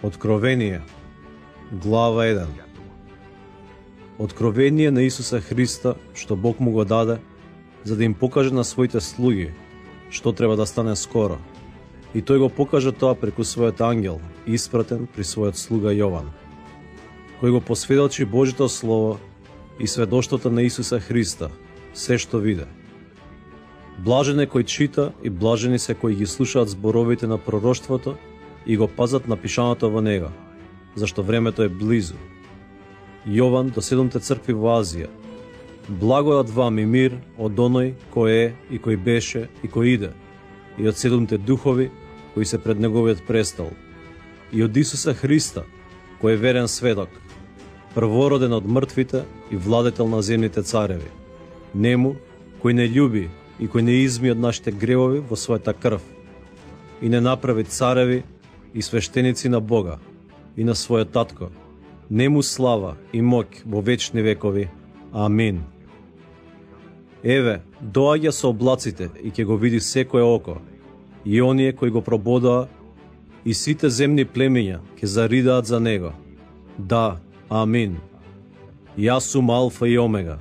Откровение, глава 1. Откровение на Исуса Христа, што Бог му го даде, за да им покаже на своите слуги што треба да стане скоро. И тој го покажа тоа преку својот ангел, испратен при својот слуга Јован, кој го посведочи Божјото Слово и сведоштвото на Исуса Христа, се што виде. Блажен е кој чита и блажени се кои ги слушаат зборовите на пророштвото и го пазат напишаното во него, зашто времето е близу. Јован до 7 цркви во Азија. Благодат вам и мир од оној кој е и кој беше и кој иде, и од 7 духови кои се пред неговиот престол, и од Исуса Христа, кој е верен сведок, првороден од мртвите и владетел на земните цареви, нему кој не љуби и кој не изми од нашите гревови во својата крв, и не направи цареви и свештеници на Бога и на својот татко, нему слава и моќ во вечни векови. Амин. Еве, доаѓа со облаците и ќе го види секое око, и оние кои го прободаа, и сите земни племиња ќе заридаат за него. Да, амин. Јас сум Алфа и Омега,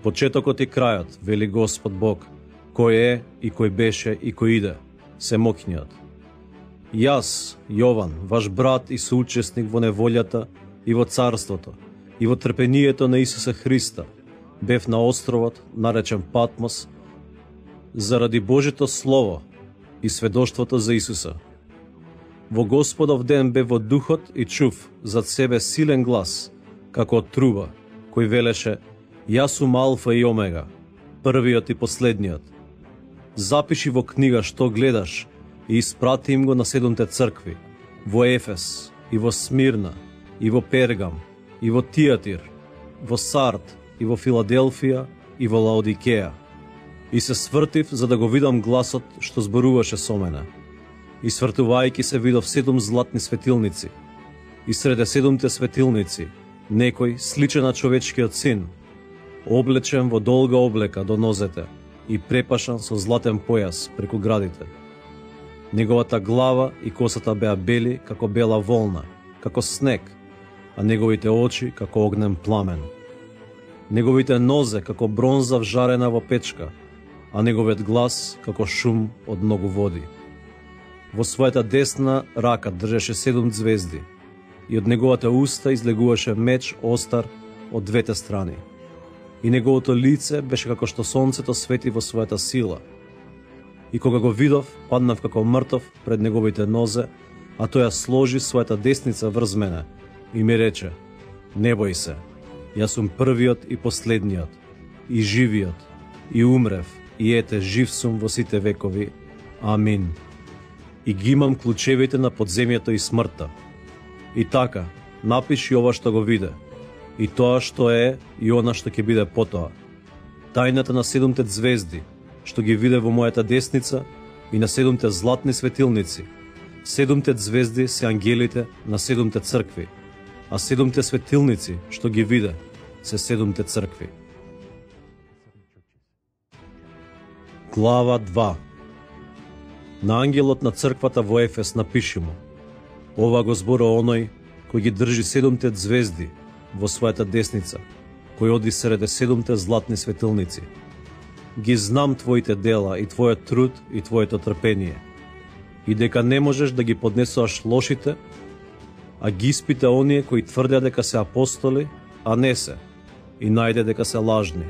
почетокот и крајот, вели Господ Бог, кој е и кој беше и кој иде, семоќниот. Јас, Јован, ваш брат и соучесник во неволјата и во царството, и во трпението на Исуса Христа, бев на островот, наречен Патмос, заради Божјото Слово и сведоштвото за Исуса. Во Господов ден бев во духот и чув зад себе силен глас, како од труба, кој велеше: Јас сум Алфа и Омега, првиот и последниот. Запиши во книга што гледаш и испрати им го на 7 цркви, во Ефес, и во Смирна, и во Пергам, и во Тиатир, во Сард, и во Филаделфија, и во Лаодикеја. И се свртив за да го видам гласот што зборуваше со мене. И свртувајќи се видов 7 златни светилници. И среде 7 светилници некој сличен на човечкиот син, облечен во долга облека до нозете и препашан со златен појас преку градите. Неговата глава и косата беа бели како бела волна, како снег, а неговите очи како огнен пламен. Неговите нозе како бронза вжарена во печка, а неговиот глас како шум од многу води. Во својата десна рака држеше 7 звезди, и од неговата уста излегуваше меч остар од двете страни. И неговото лице беше како што сонцето свети во својата сила. И кога го видов, паднав како мртов пред неговите нозе, а тој ја сложи својата десница врз мене и ми рече: Не бој се, јас сум првиот и последниот, и живиот, и умрев, и ете, жив сум во сите векови. Амин. И ги имам клучевите на подземјето и смртта. И така, напиши ова што го виде, и тоа што е, и она што ќе биде потоа. Тајната на 7 звезди, што ги виде во мојата десница, и на 7 златни светилници. 7 звезди се ангелите на 7 цркви, а 7 светилници што ги виде се 7 цркви. Глава 2. На ангелот на црквата во Ефес напиши му: Ова го зборува оној кој ги држи 7 звезди во својата десница, кој оди среде 7 златни светилници. Ги знам твоите дела и твојот труд и твоето трпение, и дека не можеш да ги поднесуваш лошите, а ги испита оние кои тврдят дека се апостоли, а не се, и најде дека се лажни.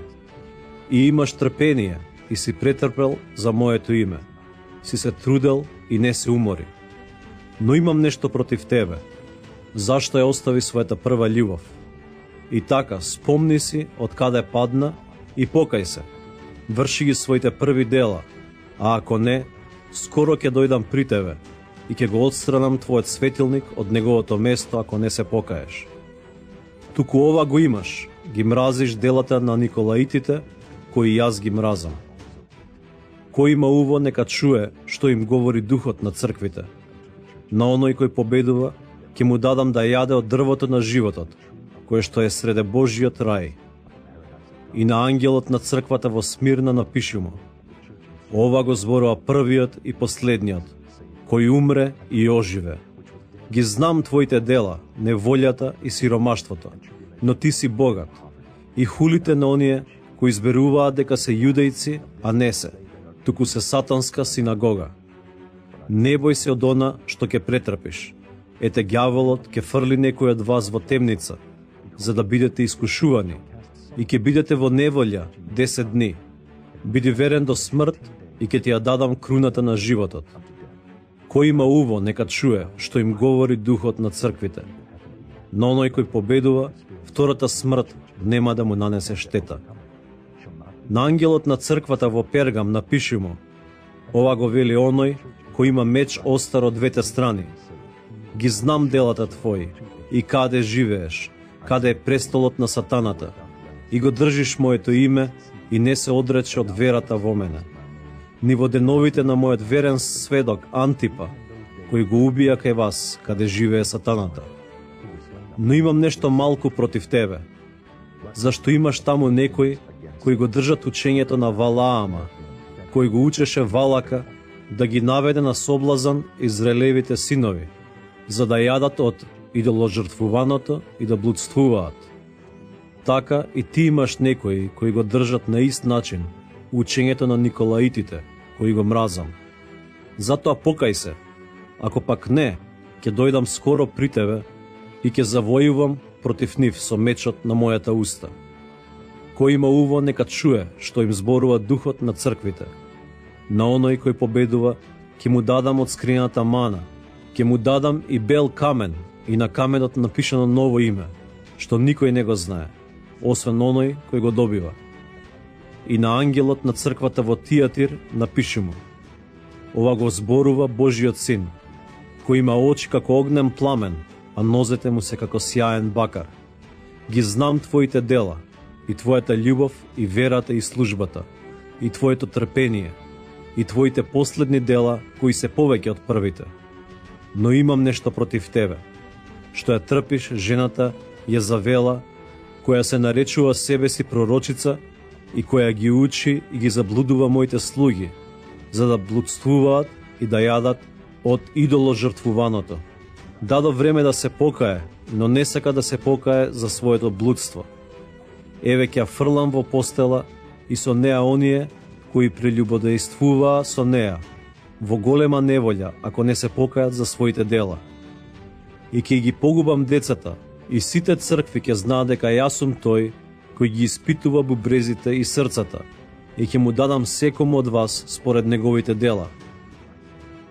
И имаш трпение и си претрпел за моето име, си се трудел и не се умори. Но имам нешто против тебе. Зашто ја остави својата прва љубов? И така, спомни си од каде падна и покај се. Врши ги своите први дела, а ако не, скоро ќе дојдам при тебе и ќе го отстранам твојот светилник од неговото место ако не се покаеш. Туку ова го имаш, ги мразиш делата на Николаитите, кои јас ги мразам. Кој има уво, нека чуе што им говори Духот на црквите. На оној кој победува, ќе му дадам да јаде од дрвото на животот, кое што е среде Божјиот рај. И на ангелот на црквата во Смирна напиши му: Ова го зборува првиот и последниот, кој умре и оживе. Ги знам твоите дела, неволјата и сиромаштвото, но ти си богат. И хулите на оние кои изберуваат дека се јудејци, а не се, туку се сатанска синагога. Не бој се од она што ќе претрпиш. Ете, ѓаволот ќе фрли некој од вас во темница, за да бидете искушувани, и ќе бидете во неволја 10 дни. Биди верен до смрт и ќе ти ја дадам круната на животот. Кој има уво, нека чуе што им говори Духот на црквите. Но оној кој победува, втората смрт нема да му нанесе штета. На ангелот на црквата во Пергам напиши му: ова го вели оној кој има меч остар од двете страни. Ги знам делата твои и каде живееш, каде е престолот на сатаната, и го држиш моето име и не се одрече од верата во мене. Ни во деновите на мојот верен сведок Антипа, кој го убија кај вас, каде живее сатаната. Но имам нешто малку против тебе, зашто имаш таму некој кој го држат учењето на Валаама, кој го учеше Валака да ги наведе на соблазан израелевите синови, за да јадат од идоложртвуваното и да блудствуваат. Така и ти имаш некои кои го држат на ист начин учењето на Николаитите, кои го мразам. Затоа покај се, ако пак не, ќе дојдам скоро при тебе и ќе завојувам против нив со мечот на мојата уста. Кој има уво, нека чуе што им зборува Духот на црквите. На оној кој победува, ќе му дадам од скрината мана, ќе му дадам и бел камен, и на каменот напишано ново име, што никој не го знае, освен оној кој го добива. И на ангелот на црквата во Тиатир напиши му: ова го зборува Божиот син, кој има очи како огнен пламен, а нозете му се како сјаен бакар. Ги знам твоите дела, и твојата љубов, и верата, и службата, и твоето трпение, и твоите последни дела, кои се повеќе од првите. Но имам нешто против тебе, што ја трпиш жената Језавела, која се наречува себе си пророчица и која ги учи и ги заблудува моите слуги, за да блудствуваат и да јадат од идоложртвуваното. Дадо време да се покае, но не сака да се покае за своето блудство. Еве ќе фрлам во постела и со неа оние кои прелюбодејствуваа со неа, во голема неволја, ако не се покајат за своите дела. И ќе ги погубам децата, и сите цркви ќе знаат дека јас сум тој кој ги испитува бубрезите и срцата, и ќе му дадам секому од вас според неговите дела.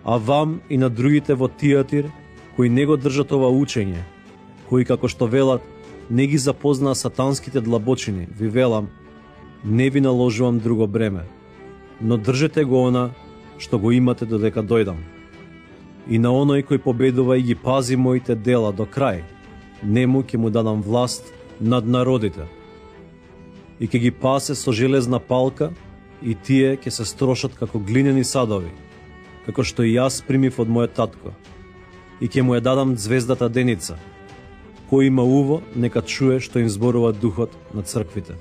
А вам и на другите во Тиатир, кои не го држат ова учење, кои како што велат не ги запознаа сатанските длабочини, ви велам, не ви наложувам друго бреме, но држете го она што го имате додека дојдам. И на оној кој победува и ги пази моите дела до крај, нему ќе му дадам власт над народите. И ќе ги пасе со железна палка, и тие ќе се строшат како глинени садови, како што и јас примив од мојот татко. И ќе му ја дадам звездата деница. Кој има уво, нека чуе што им зборува Духот на црквите.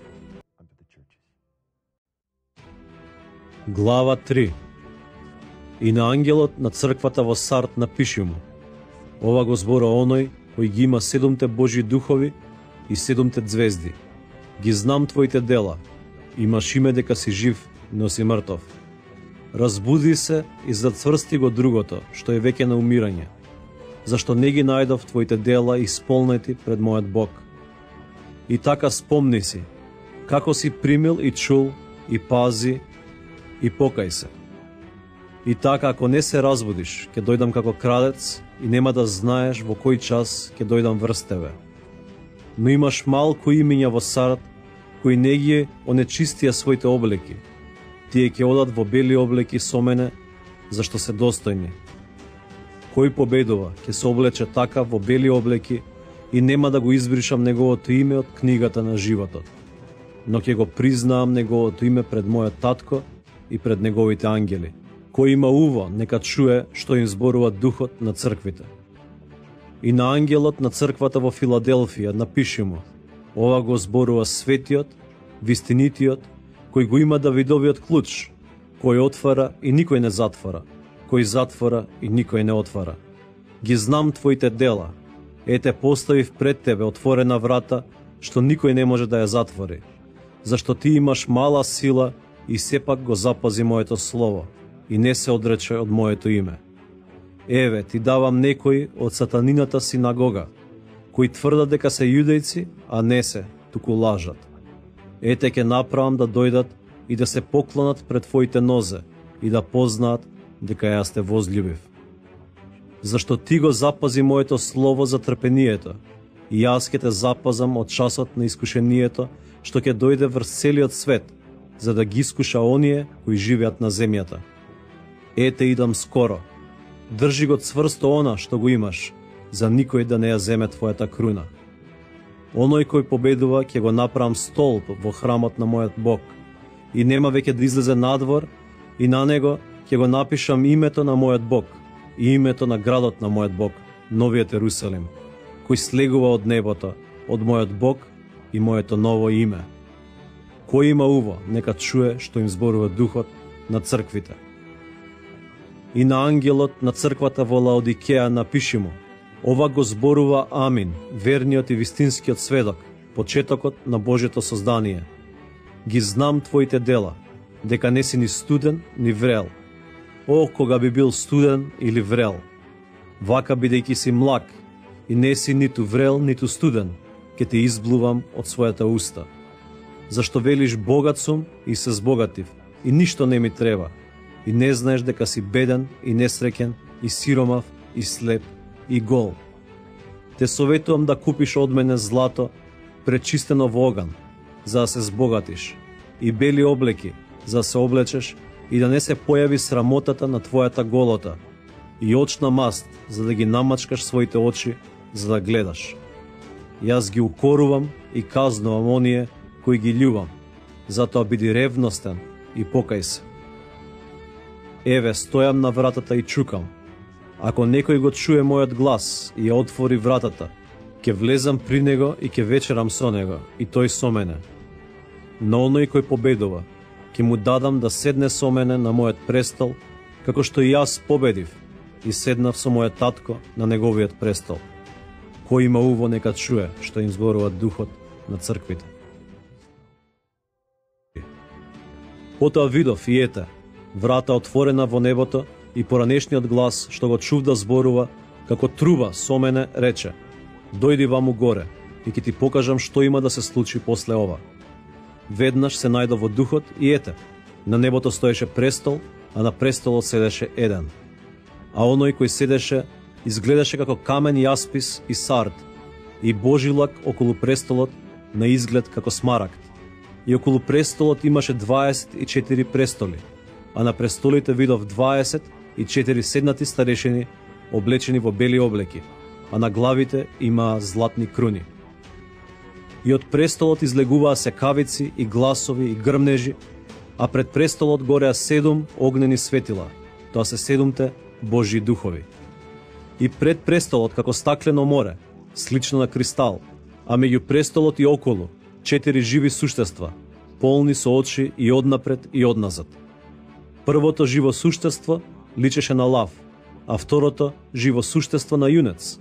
Глава 3. И на ангелот на црквата во Сард напиши му: ова го зборува оној кој ги има 7 Божји духови и 7 звезди. Ги знам твоите дела, имаш име дека си жив, но си мртов. Разбуди се и зацврсти го другото, што е веќе на умирање, зашто не ги најдов твоите дела исполнети пред мојот Бог. И така спомни си, како си примил и чул, и пази, и покај се. И така, ако не се разбудиш, ќе дојдам како крадец и нема да знаеш во кој час ќе дојдам врз тебе. Но имаш малку имиња во Сард, кои не ги онечистија своите облеки. Тие ќе одат во бели облеки со мене, зашто се достојни. Кој победува, ќе се облече така во бели облеки и нема да го избришам неговото име од книгата на животот. Но ќе го признаам неговото име пред мојот татко и пред неговите ангели. Кој има уво, нека чуе што им зборува Духот на црквите. И на ангелот на црквата во Филаделфија напиши му: ова го зборува светиот, вистинитиот, кој го има Давидовиот клуч, кој отвара и никој не затвара, кој затвора и никој не отвара. Ги знам твоите дела. Ете, поставив пред тебе отворена врата, што никој не може да ја затвори. Зашто ти имаш мала сила и сепак го запази моето слово и не се одрече од моето име. Еве, ти давам некои од сатанината синагога, кои тврдат дека се јудејци, а не се, туку лажат. Ете, ќе направам да дојдат и да се поклонат пред твоите нозе и да познаат дека јас те возљубив. Зашто ти го запази моето слово за трпението, и јас ќе те запазам од часот на искушението, што ќе дојде врз целиот свет, за да ги искуша оние кои живеат на земјата. Ете, идам скоро. Држи го цврсто она што го имаш, за никој да не ја земе твојата круна. Оној кој победува ќе го направам столб во храмот на мојот Бог, и нема веќе да излезе надвор, и на него ќе го напишам името на мојот Бог и името на градот на мојот Бог, новиот Ерусалим, кој слегува од небото, од мојот Бог и моето ново име. Кој има уво, нека чуе што им зборува Духот на црквите. И на ангелот на црквата во Лаодикеја напиши му: ова го зборува Амин, верниот и вистинскиот сведок, почетокот на Божјето создание. Ги знам твоите дела, дека не си ни студен, ни врел. О, кога би бил студен или врел! Вака, бидејќи си млак и не си ниту врел, ниту студен, ќе те изблувам од својата уста. Зашто велиш богат сум и се збогатив, и ништо не ми треба, и не знаеш дека си беден и несреќен, и сиромав, и слеп, и гол. Те советувам да купиш од мене злато, пречистено во оган, за да се збогатиш, и бели облеки, за да се облечеш, и да не се појави срамотата на твојата голота, и очна маст, за да ги намачкаш своите очи, за да гледаш. Јас ги укорувам и казнувам оние кои ги љубам, затоа биди ревностен и покај се. Еве, стојам на вратата и чукам. Ако некој го чуе мојот глас и ја отвори вратата, ќе влезам при него и ќе вечерам со него, и тој со мене. На оној кој победува, ќе му дадам да седне со мене на мојот престол, како што и јас победив и седнав со мојот татко на неговиот престол. Кој има уво, нека чуе што им зборува Духот на црквите. Потоа видов и ете, врата отворена во небото, и поранешниот глас што го чув да зборува, како труба со мене, рече: дојди ваму горе, и ќе ти покажам што има да се случи после ова. Веднаш се најдов во духот и ете, на небото стоеше престол, а на престолот седеше еден. А оној кој седеше изгледаше како камен јаспис и сард, и божилак околу престолот на изглед како смарагд. И околу престолот имаше 24 престоли, а на престолите видов 24 седнати старешини, облечени во бели облеки, а на главите има златни круни. И од престолот излегуваа секавици и гласови и грмнежи, а пред престолот гореа 7 огнени светила, тоа се 7 Божји духови. И пред престолот како стаклено море, слично на кристал, а меѓу престолот и околу 4 живи суштества, полни со очи и однапред и одназад. Првото живо суштество личеше на лав, а второто живо суштество на јунец.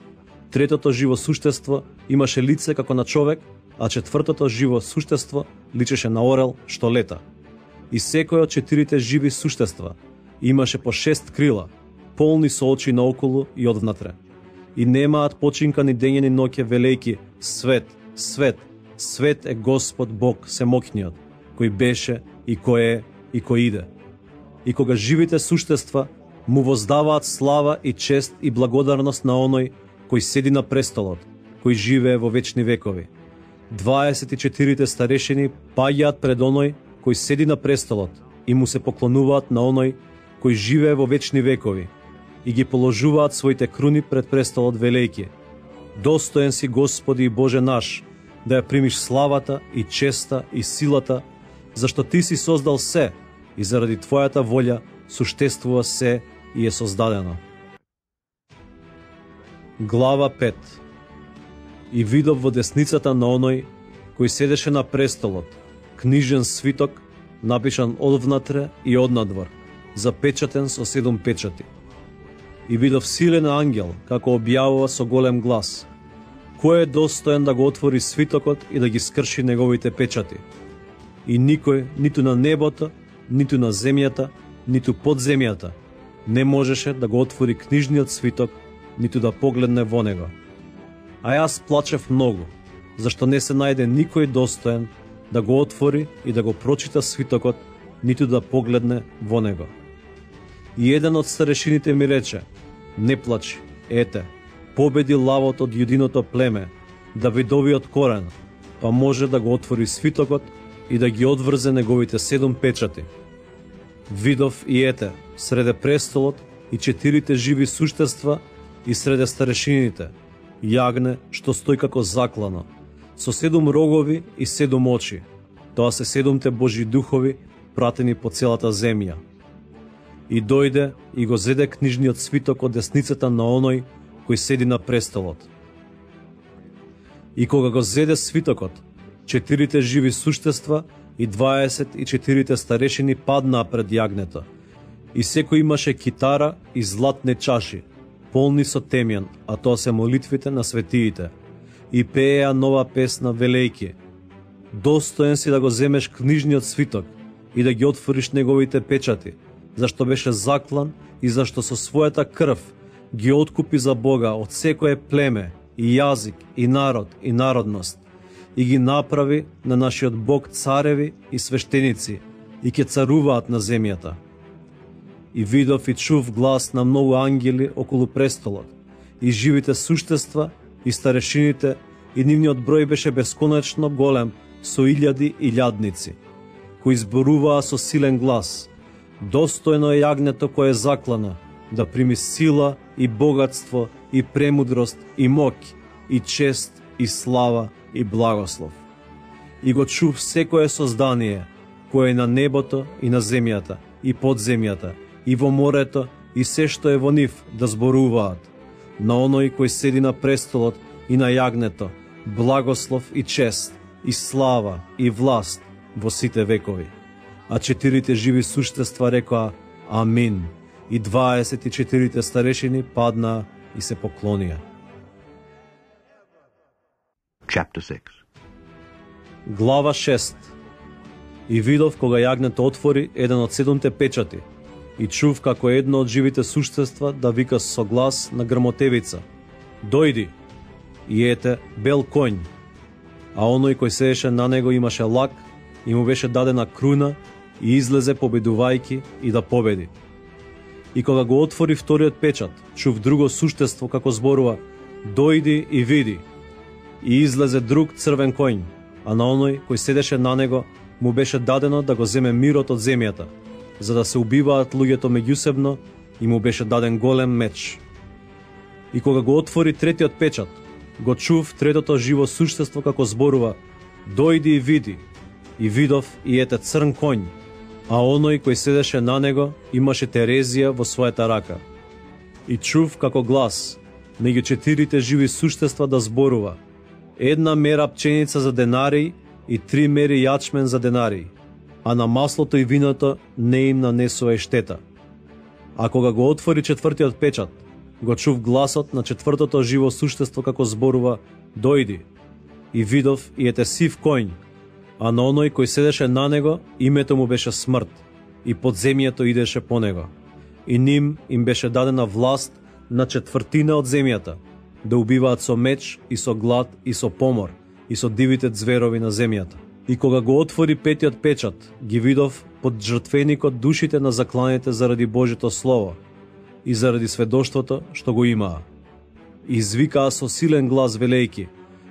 Третото живо суштество имаше лице како на човек, а четвртото живо суштество личеше на орел што лета. И секој од 4 живи суштества имаше по 6 крила, полни со очи наоколу и одвнатре. И немаат починка ни дење ни ноќе, велејки: свет, свет, свет е Господ Бог Семокниот, кој беше и кој е и кој иде. И кога живите суштества му воздаваат слава и чест и благодарност на оној кој седи на престолот, кој живее во вечни векови. 24 старешини паѓаат пред оној кој седи на престолот и му се поклонуваат на оној кој живее во вечни векови и ги положуваат своите круни пред престолот, велејки: достоен си, Господи и Боже наш, да ја примиш славата и честа и силата, зашто Ти си создал се и заради Твојата волја суштествува се и е создадено. Глава 5. И видов во десницата на оној кој седеше на престолот книжен свиток, напишан одвнатре и однадвор, запечатен со 7 печати. И видов силен ангел, како објавува со голем глас: кој е достоен да го отвори свитокот и да ги скрши неговите печати? И никој, ниту на небото, ниту на земјата, ниту под земјата, не можеше да го отвори книжниот свиток, ниту да погледне во него. А јас плачев многу, зашто не се најде никој достоен да го отвори и да го прочита свитокот, ниту да погледне во него. И еден од старешините ми рече: не плачи, ете, победи лавот од јудиното племе, Давидовиот корен, па може да го отвори свитокот и да ги одврзе неговите 7 печати. Видов и ете, среде престолот и 4 живи суштества и среде старешините, јагне што стои како заклано, со 7 рогови и 7 очи. Тоа се 7 Божји духови пратени по целата земја. И дојде и го зеде книжниот свиток од десницата на оној кој седи на престолот. И кога го зеде свитокот, 4 живи суштества и 24 старешини паднаа пред јагнето, и секој имаше китара и златни чаши, полни со темјан, а тоа се молитвите на светиите, и пееа нова песна велејки: достоен си да го земеш книжниот свиток и да ги отвориш неговите печати, зашто беше заклан и зашто со својата крв ги откупи за Бога од секое племе и јазик и народ и народност, и ги направи на нашиот Бог цареви и свештеници, и ќе царуваат на земјата. И видов и чув глас на многу ангели околу престолот, и живите суштества, и старешините, и нивниот број беше бесконечно голем, со илјади и илјадници, кои зборуваа со силен глас: достојно е јагнето кое е заклано, да прими сила и богатство и премудрост и моќ и чест и слава и благослов. И го чув секое создание, кое е на небото и на земјата и под земјата и во морето и се што е во нив, да зборуваат: на оној кој седи на престолот и на јагнето, благослов и чест и слава и власт во сите векови. А 4 живи суштества рекоа: Амин. И 24 старешини паднаа и се поклонија. Chapter 6. Глава 6. И видов кога јагнето отвори еден од 7 печати, и чув како едно од живите суштества да вика со глас на грмотевица: дојди! И ете, бел конј, а оној кој седеше на него имаше лак и му беше дадена круна, и излезе победувајки и да победи. И кога го отвори вториот печат, чув друго суштество како зборува: дојди и види. И излезе друг црвен конј, а на оној кој седеше на него му беше дадено да го земе мирот од земјата, за да се убиваат луѓето меѓусебно, и му беше даден голем меч. И кога го отвори третиот печат, го чув третото живо суштество како зборува: дојди и види. И видов и ете црн конј, а оној кој седеше на него имаше терезија во својата рака. И чув како глас меѓу 4 живи суштества да зборува: една мера пченица за денари и 3 мери јачмен за денари, а на маслото и виното не им нанесува и штета. А кога го отвори четвртиот печат, го чув гласот на четвртото живо суштество како зборува: дојди. И видов и ете сив конј, а на оној кој седеше на него името му беше смрт, и подземјето идеше по него. И ним им беше дадена власт на четвртина од земјата, да убиваат со меч и со глад и со помор и со дивите зверови на земјата. И кога го отвори петиот печат, ги видов под жртвеникот душите на закланите заради Божјото слово и заради сведоштвото што го имаа. И извикаа со силен глас велејки: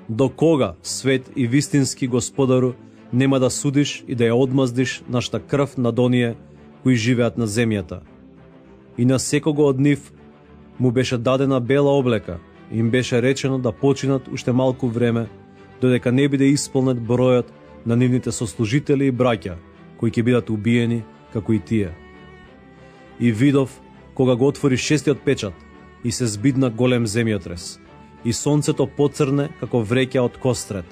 до кога, свет и вистински Господару, нема да судиш и да ја одмаздиш нашата крв над оние кои живеат на земјата? И на секого од нив му беше дадена бела облека, и им беше речено да починат уште малку време, додека не биде исполнет бројот на нивните сослужители и браќа, кои ќе бидат убиени како и тие. И видов кога го отвори шестиот печат, и се збидна голем земјотрес, и сонцето поцрне како вреќа од кострет,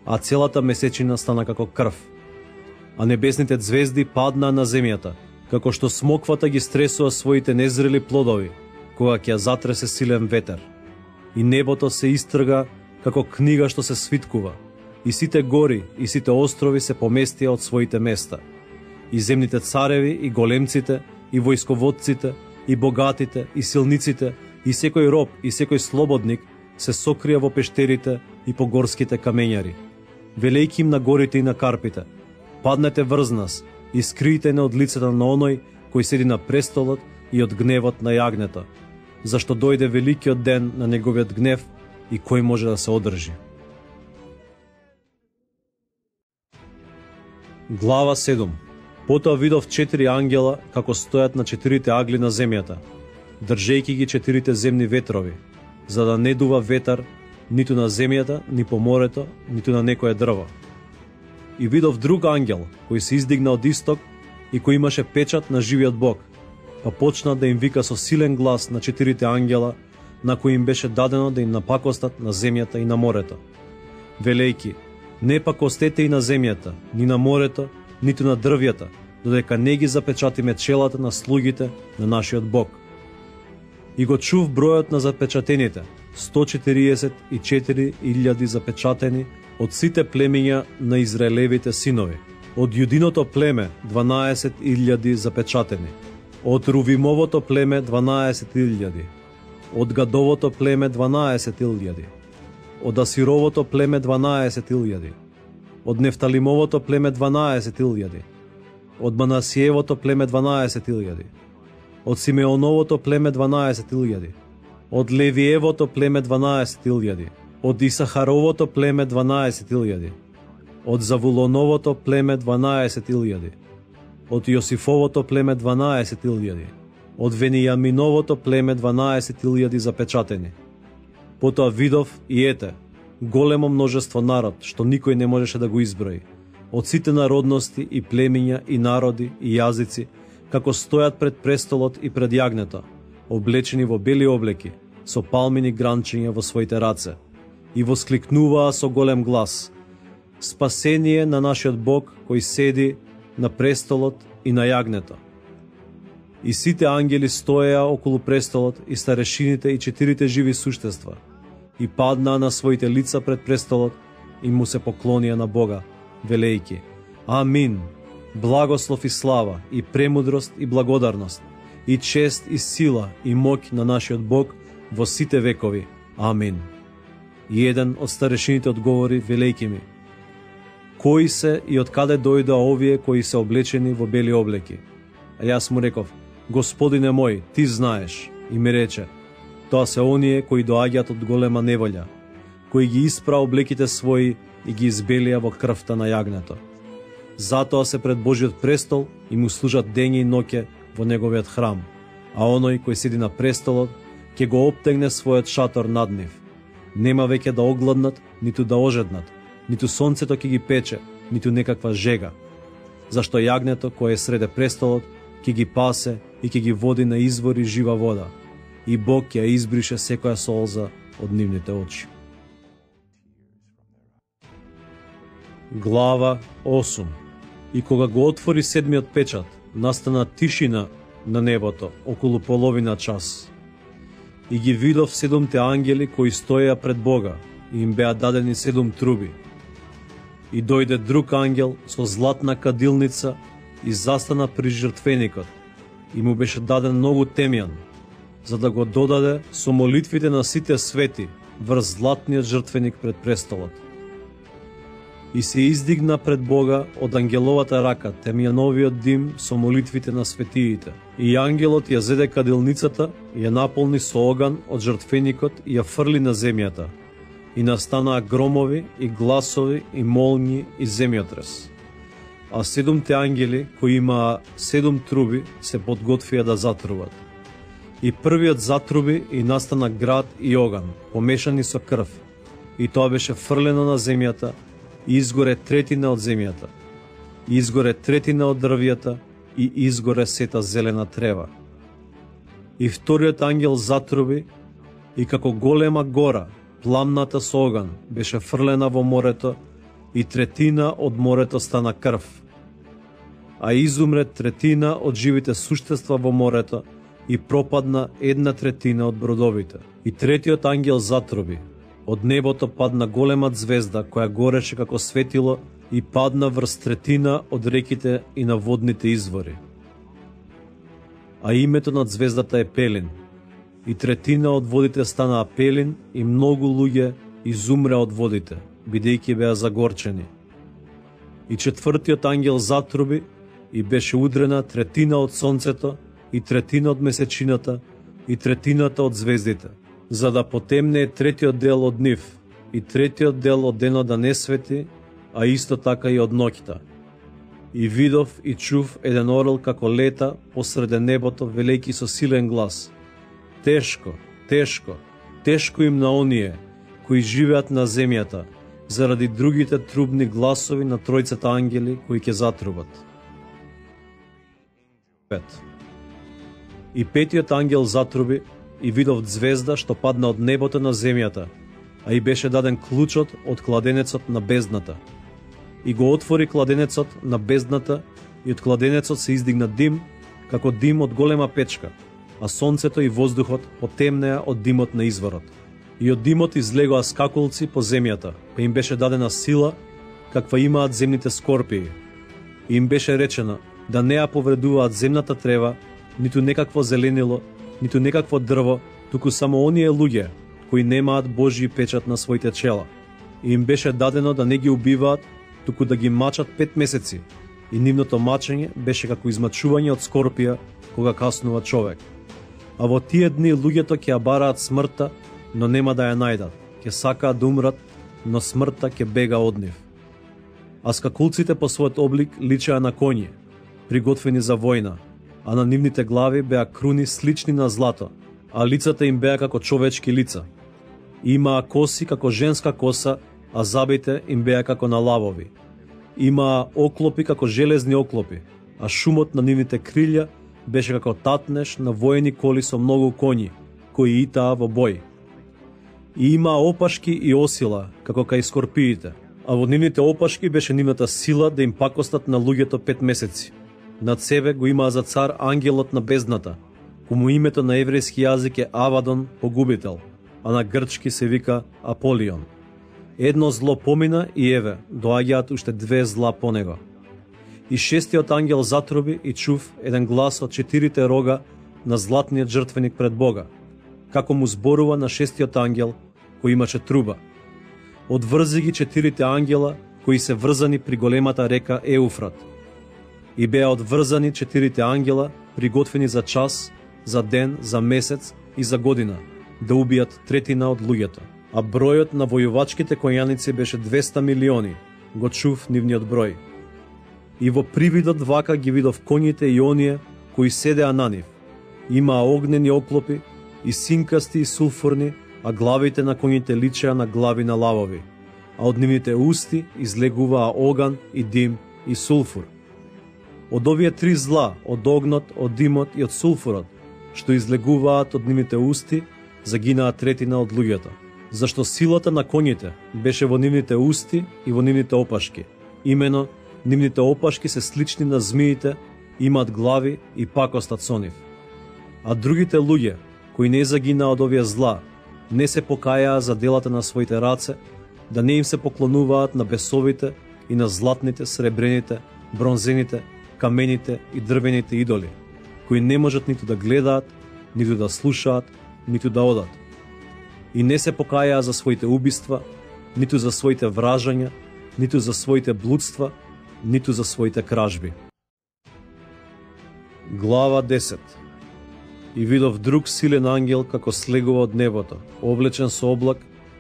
а целата месечина стана како крв. А небесните звезди паднаа на земјата, како што смоквата ги стресува своите незрели плодови, кога ќе затресе силен ветер. И небото се истрга како книга што се свиткува, и сите гори и сите острови се поместија од своите места. И земните цареви и големците, и војсководците, и богатите, и силниците, и секој роб, и секој слободник се сокрија во пештерите и по горските камењари. Велејки им на горите и на карпите: паднете врз нас и скријте не од лицето на оној кој седи на престолот и од гневот на јагнето, зашто дојде великиот ден на неговиот гнев и кој може да се одржи. Глава 7. Потоа видов 4 ангела како стојат на 4 агли на земјата, држејќи ги 4 земни ветрови, за да не дува ветар ниту на земјата, ни по морето, ниту на некое дрво. И видов друг ангел кој се издигна од исток и кој имаше печат на живиот Бог, па почна да им вика со силен глас на 4 ангела на кои им беше дадено да им напакостат на земјата и на морето, велејки: не пакостете и на земјата, ни на морето, ниту на дрвјата, додека не ги запечатиме челата на слугите на нашиот Бог. И го чув бројот на запечатените, 144.000 запечатени од сите племиња на Израелевите синови. Од Јудиното племе 12.000 запечатени, од Рувимовото племе 12.000, од Гадовото племе 12.000, од Асировото племе 12.000, од Нефталимовото племе 12.000, од Манасиевото племе 12.000, од Симеоновото племе 12.000, од Левиевото племе 12.000, од Исахаровото племе 12.000, од Завулоновото племе 12.000, од Јосифовото племе 12.000, од Венијаминовото племе 12.000 запечатени. Потоа видов и ете, големо множество народ, што никој не можеше да го изброи, од сите народности и племиња и народи и јазици, како стојат пред престолот и пред јагнето, облечени во бели облеки, со палмини гранчиња во своите раце, и воскликнуваа со голем глас: спасение на нашиот Бог кој седи на престолот и на јагнето. И сите ангели стоеа околу престолот и старешините и 4 живи суштества, и паднаа на своите лица пред престолот и му се поклонија на Бога, велејки: Амин, благослов и слава, и премудрост и благодарност, и чест и сила и моќ на нашиот Бог во сите векови. Амин. И еден од старешините одговори, велејки ми: кои се и од каде дојдоа овие кои се облечени во бели облеки? А јас му реков: Господине мој, ти знаеш. И ми рече: тоа се оние кои доаѓаат од голема неволја, кои ги испра облеките своји и ги избелија во крвта на јагнето. Затоа се пред Божиот престол и му служат дење и ноќе во неговиот храм, а оној кој седи на престолот ќе го обтегне својот шатор над нив. Нема веќе да огладнат, ниту да ожеднат, ниту сонцето ќе ги пече, ниту некаква жега, зашто јагнето кое е среде престолот ќе ги пасе и ќе ги води на извори жива вода, и Бог ќе ја избрише секоја солза од нивните очи. Глава 8. И кога го отвори седмиот печат, настана тишина на небото околу половина час. И ги видов 7 ангели кои стоеа пред Бога, и им беа дадени 7 труби. И дојде друг ангел со златна кадилница и застана при жртвеникот, и му беше даден многу темјан, за да го додаде со молитвите на сите свети врз златниот жртвеник пред престолот. И се издигна пред Бога од ангеловата рака темјановиот дим со молитвите на светиите. И ангелот ја зеде кадилницата, ја наполни со оган од жртвеникот и ја фрли на земјата. И настанаа громови и гласови и молњи и земјотрес. А 7 ангели, кои имаа 7 труби, се подготвија да затруват. И првиот затруби и настана град и оган, помешани со крв, и тоа беше фрлено на земјата, и изгоре третина од земјата, и изгоре третина од дрвјата, и изгоре сета зелена трева. И вториот ангел затруби, и како голема гора, пламната со оган, беше фрлена во морето, и третина од морето стана крв. А изумре третина од живите суштества во морето, и пропадна 1/3 од бродовите. И третиот ангел затроби. Од небото падна голема звезда која гореше како светило и падна врз 1/3 од реките и на водните извори. А името на звездата е Пелин. И 1/3 од водите станаа пелин и многу луѓе изумреа од водите, бидејќи беа загорчени. И четвртиот ангел затруби и беше удрена 1/3 од сонцето и 1/3 од месечината и 1/3 од звездите, за да потемне третиот дел од нив и третиот дел од денот да не свети, а исто така и од ноќта. И видов и чув еден орел како лета посреде небото, велејќи со силен глас: Тешко, тешко, тешко им на оние кои живеат на земјата, заради другите трубни гласови на тројцата ангели кои ќе затрубат. 5. И петиот ангел затруби и видов звезда што падна од небото на земјата, а и беше даден клучот од кладенецот на бездната. И го отвори кладенецот на бездната и од кладенецот се издигна дим, како дим од голема печка, а сонцето и воздухот потемнеа од димот на изворот. И од димот излегоа скакулци по земјата, па им беше дадена сила, каква имаат земните скорпии. И им беше речено да не ја повредуваат земната трева, ниту некакво зеленило, ниту некакво дрво, туку само оние луѓе кои немаат Божји печат на своите чела. И им беше дадено да не ги убиваат, туку да ги мачат 5 месеци, и нивното мачење беше како измачување од скорпија кога каснува човек. А во тие дни луѓето ќе ја бараат смртта, но нема да ја најдат, ќе сакаат да умрат, но смртта ќе бега од нив. А скакулците по својот облик личеа на коњи, приготвени за војна, а на нивните глави беа круни слични на злато, а лицата им беа како човечки лица. Имаа коси како женска коса, а забите им беа како на лавови. Имаа оклопи како железни оклопи, а шумот на нивните крилја беше како татнеш на воени коли со многу коњи, кои итаа во бој. И имаа опашки и осила, како кај скорпиите, а во нивните опашки беше нивната сила да им пакостат на луѓето 5 месеци. Над себе го имаа за цар ангелот на бездната, кому името на еврејски јазик е Авадон, погубител, а на грчки се вика Аполион. Едно зло помина и еве, доаѓаат уште 2 зла по него. И шестиот ангел затроби и чув еден глас од 4 рога на златниот жртвеник пред Бога, како му зборува на шестиот ангел кој имаше труба. Одврзи ги 4 ангела кои се врзани при големата река Еуфрат. И беа одврзани 4 ангела приготвени за час, за ден, за месец и за година, да убијат 1/3 од луѓето. А бројот на војувачките коњаници беше 200 милиони, го чув нивниот број. И во привидот вака ги видов коњите и оние кои седеа на нив. Имаа огнени оклопи и синкасти и сулфурни, а главите на коњите личеа на глави на лавови, а од нивните усти излегуваа оган и дим и сулфур. Од овие 3 зла, од огнот, од димот и од сулфурот, што излегуваат од нивните усти, загинаа 1/3 од луѓето, зашто силата на коњите беше во нивните усти и во нивните опашки. Имено, нивните опашки се слични на змиите, имаат глави и пакостат со нив. А другите луѓе, кои не загинаа од овие зла, не се покајаа за делата на своите раце, да не им се поклонуваат на бесовите и на златните, сребрените, бронзените, камените и дрвените идоли, кои не можат ниту да гледаат, ниту да слушаат, ниту да одат. И не се покајаа за своите убиства, ниту за своите вражања, ниту за своите блудства, ниту за своите кражби. Глава 10. И видов друг силен ангел како слегува од небото, облечен со облак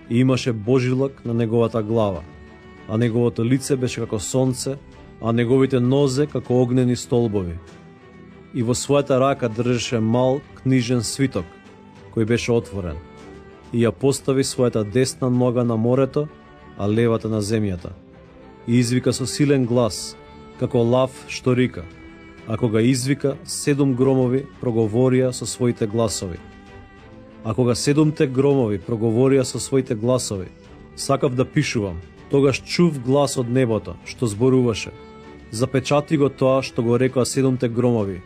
и имаше божилак на неговата глава, а неговото лице беше како сонце, а неговите нозе како огнени столбови. И во својата рака држеше мал книжен свиток, кој беше отворен, и ја постави својата десна нога на морето, а левата на земјата. И извика со силен глас, како лав што рика. А кога извика, 7 громови проговорија со своите гласови. А кога 7 громови проговорија со своите гласови, сакав да пишувам, тогаш чув глас од небото, што зборуваше: запечати го тоа што го рекоа 7 громови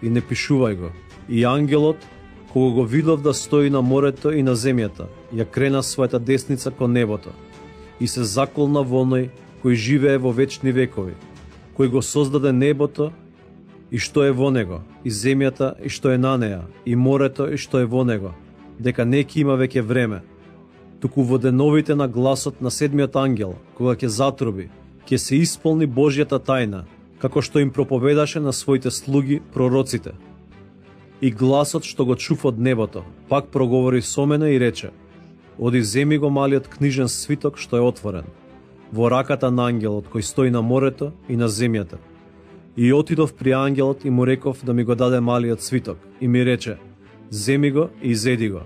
и не пишувај го, И ангелот, кога го видов да стои на морето и на земјата, ја крена својата десница кон небото и се заколна во оној кој живее во вечни векови, кој го создаде небото и што е во него, и земјата и што е на неа, и морето и што е во него, дека не ќе има веќе време. Туку во деновите на гласот на седмиот ангел, кога ќе затруби, ќе се исполни Божјата тајна, како што им проповедаше на своите слуги пророците. И гласот што го чув од небото, пак проговори со мене и рече: оди земи го малиот книжен свиток што е отворен, во раката на ангелот кој стои на морето и на земјата. И отидов при ангелот и му реков да ми го даде малиот свиток, и ми рече: земи го и изеди го,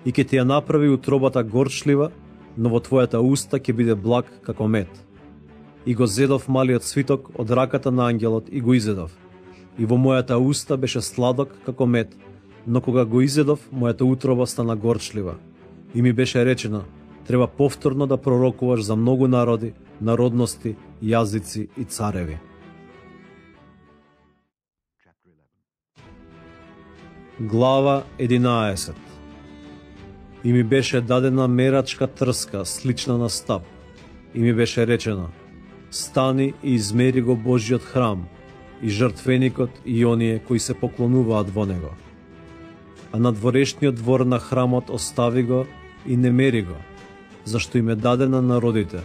и ќе ти ја направи утробата горчлива, но во твојата уста ќе биде благ како мед. И го зедов малиот свиток од раката на ангелот и го изедов. И во мојата уста беше сладок како мед, но кога го изедов, мојата утроба стана горчлива. И ми беше речено: треба повторно да пророкуваш за многу народи, народности, јазици и цареви. Глава 11. И ми беше дадена мерачка трска, слична на стап, и ми беше речено: стани и измери го Божјиот храм, и жртвеникот и оние кои се поклонуваат во него. А надворешниот двор на храмот остави го и не мери го, зашто им е даден на народите,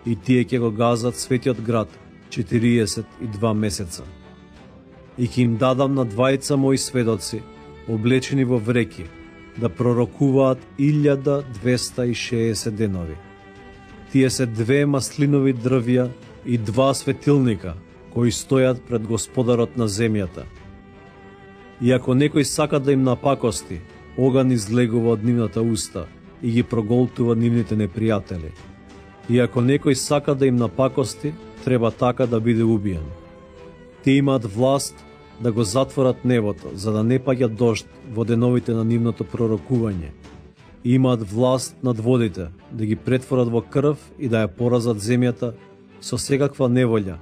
и тие ќе го газат светиот град 42 месеца. И ќе им дадам на двајца мои сведоци, облечени во вреки, да пророкуваат 1260 денови. Тие се 2 маслинови дрвја и 2 светилника, кои стојат пред Господарот на земјата. И ако некој сака да им напакости, оган излегува од нивната уста и ги проголтува нивните непријатели. И ако некој сака да им напакости, треба така да биде убиен. Тие имаат власт да го затворат небото, за да не паѓа дожд во деновите на нивното пророкување. И имаат власт над водите, да ги претворат во крв и да ја поразат земјата со секаква неволја,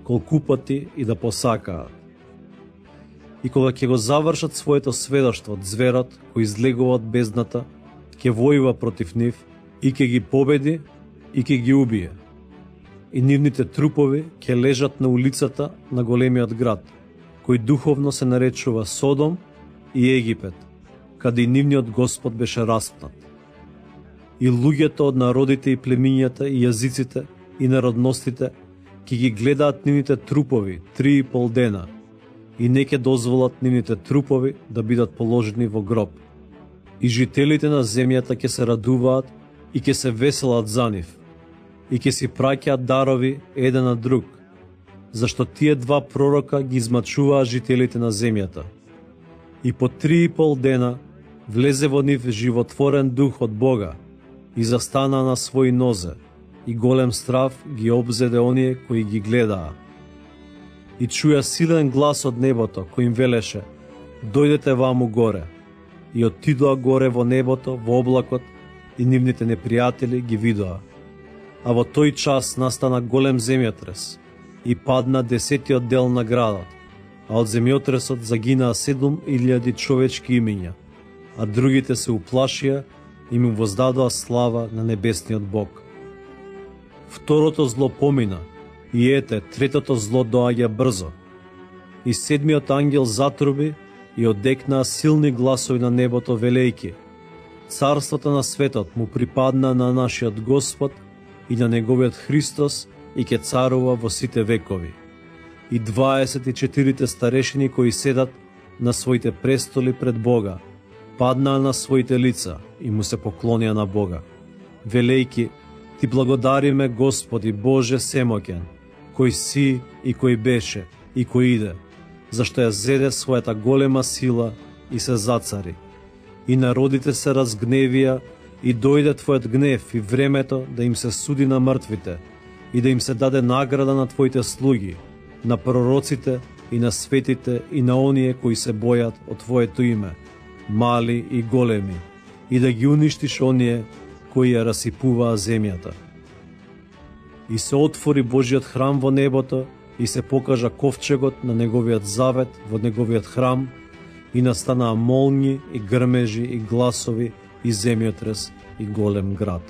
колку пати и да посакаат. И кога ќе го завршат своето сведоштво, зверот кој излегува од бездната, ќе војува против нив и ќе ги победи и ќе ги убие. И нивните трупови ќе лежат на улицата на големиот град, кој духовно се наречува Содом и Египет, каде и нивниот Господ беше распнат. И луѓето од народите и племињата и јазиците и народностите ќе ги гледаат нивните трупови 3,5 дена и не ќе дозволат нивните трупови да бидат положени во гроб. И жителите на земјата ќе се радуваат и ќе се веселат за нив и ќе си праќаат дарови еден на друг, зашто тие 2 пророка ги измачуваа жителите на земјата. И по 3,5 дена влезе во нив животворен дух од Бога и застана на своји нозе, и голем страв ги обзеде оние кои ги гледаа. И чуја силен глас од небото кој им велеше: дојдете ваму горе. И отидоа горе во небото, во облакот, и нивните непријатели ги видоа. А во тој час настана голем земјотрес и падна 10-тиот дел на градот, а од земјотресот загинаа 7000 човечки имиња, а другите се уплашија и му воздадоа слава на небесниот Бог. Второто зло помина, и ете, третото зло доаѓа брзо. И седмиот ангел затруби и одекнаа силни гласови на небото велејки: царството на светот му припадна на нашиот Господ и на неговиот Христос, и ќе царува во сите векови. И 24 старешини кои седат на своите престоли пред Бога, паднаа на своите лица и му се поклонија на Бога, велејки: Ти благодариме, Господи Боже Семоќен, кој си и кој беше и кој иде, зашто ја зеде својата голема сила и се зацари. И народите се разгневија и дојде Твојот гнев и времето да им се суди на мртвите и да им се даде награда на Твоите слуги, на пророците и на светите и на оние кои се бојат од Твоето име, мали и големи, и да ги уништиш оние кои ја расипуваа земјата. И се отвори Божиот храм во небото и се покажа ковчегот на неговиот завет во неговиот храм, И настанаа молњи и грмежи и гласови и земјотрес и голем град.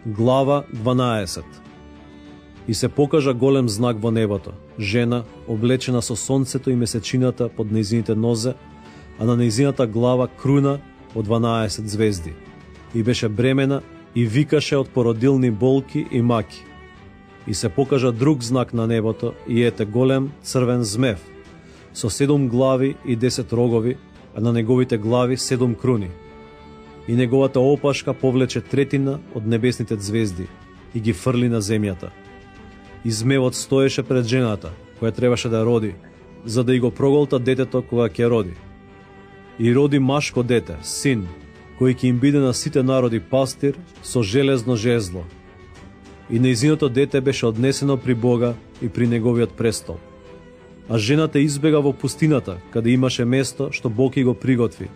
Глава 12. И се покажа голем знак во небото, жена, облечена со сонцето и месечината под нејзините нозе, а на нејзината глава круна од 12 звезди. И беше бремена и викаше од породилни болки и маки. И се покажа друг знак на небото, и ете голем црвен змев, со 7 глави и 10 рогови, а на неговите глави 7 круни. И неговата опашка повлече третина од небесните звезди и ги фрли на земјата. И змевот стоеше пред жената, која требаше да роди, за да и го проголта детето кога ќе роди. И роди машко дете, син, кој ќе им биде на сите народи пастир со железно жезло. И нејзиното дете беше однесено при Бога и при неговиот престол. А жената избега во пустината, каде имаше место што Бог ги го приготви,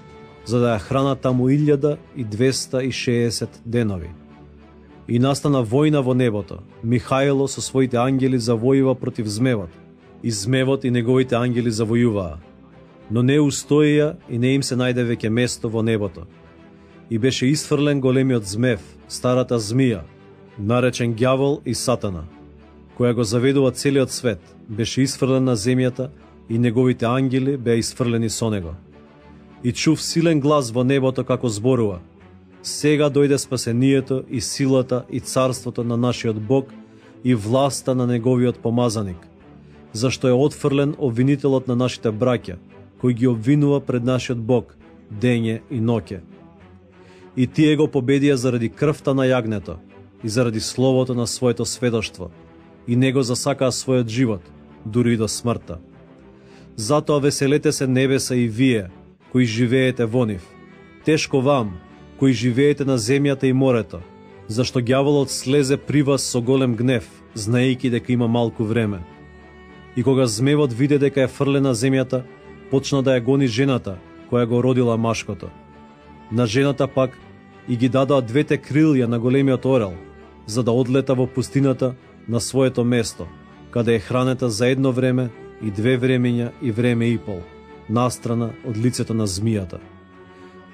за да ја храна таму 1260 денови. И настана војна во небото. Михајло со своите ангели завојува против змевот, и змевот и неговите ангели завојуваа. Но не устоија и не им се најде веќе место во небото. И беше исфрлен големиот змев, старата змија, наречен ѓавол и сатана, која го заведува целиот свет, беше исфрлен на земјата и неговите ангели беа исфрлени со него. И чув силен глас во небото како зборува: сега дојде спасението и силата и царството на нашиот Бог и власта на неговиот помазаник, зашто е отфрлен обвинителот на нашите браќа, кој ги обвинува пред нашиот Бог дење и ноќе. И тие го победија заради крвта на јагнето и заради словото на своето сведоштво, и него засакаа својот живот, дури и до смртта. Затоа веселете се небеса и вие, кои живеете во нив. Тешко вам, кои живеете на земјата и морето, зашто ѓаволот слезе при вас со голем гнев, знаејќи дека има малку време. И кога змевот виде дека е фрлена земјата, почна да ја гони жената, која го родила машкото. На жената пак и ги дадоа двете крилја на големиот орел, за да одлета во пустината на своето место, каде е хранета за едно време и 2 времења и време и пол, настрана од лицето на змијата.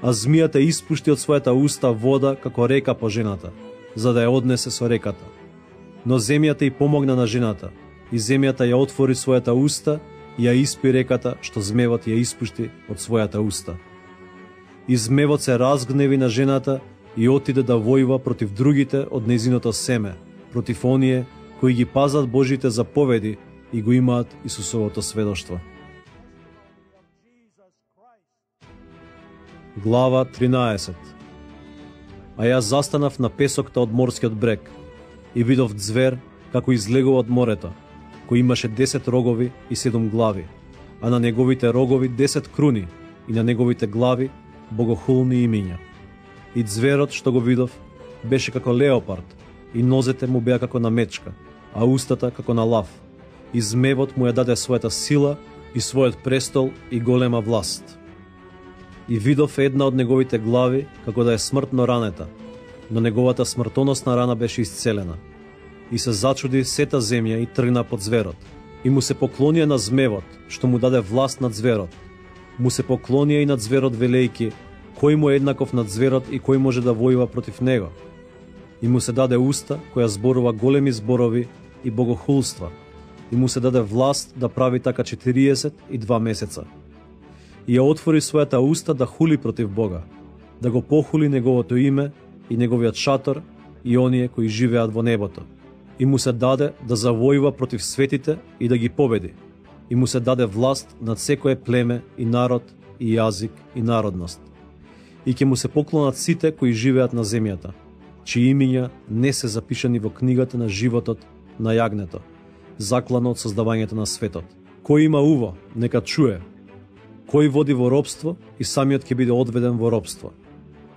А змијата испушти од својата уста вода како река по жената, за да ја однесе со реката. Но земјата и помогна на жената, и земјата ја отвори својата уста и ја испи реката што змевот ја испушти од својата уста. И змевот се разгневи на жената и отиде да војува против другите од нејзиното семе, против оние кои ги пазат Божите заповеди и го имаат Исусовото сведоштво. Глава 13. А јас застанав на песокта од морскиот брег и видов ѕвер како излегува од морето, кој имаше 10 рогови и 7 глави, а на неговите рогови 10 круни и на неговите глави богохулни имиња. И ѕверот што го видов беше како леопард, и нозете му беа како на мечка, а устата како на лав. И змевот му ја даде својата сила и својот престол и голема власт. И видов една од неговите глави како да е смртно ранета, но неговата смртоносна рана беше исцелена. И се зачуди сета земја и тргна под ѕверот. И му се поклонија на змевот, што му даде власт над ձверот. Му се поклонија и над ձверот велејки, кој му е еднаков над ձверот и кој може да војува против него. И му се даде уста која зборува големи зборови и богохулства. И му се даде власт да прави така 42 месеца. И ја отвори својата уста да хули против Бога, да го похули неговото име и неговиот шатор и оние кои живеат во небото. И му се даде да завојува против светите и да ги победи. И му се даде власт над секое племе и народ и јазик и народност. И ќе му се поклонат сите кои живеат на земјата, чии имиња не се запишани во книгата на животот на јагнето, заклано од создавањето на светот. Кој има уво, нека чуе. Кој води во робство и самиот ќе биде одведен во робство.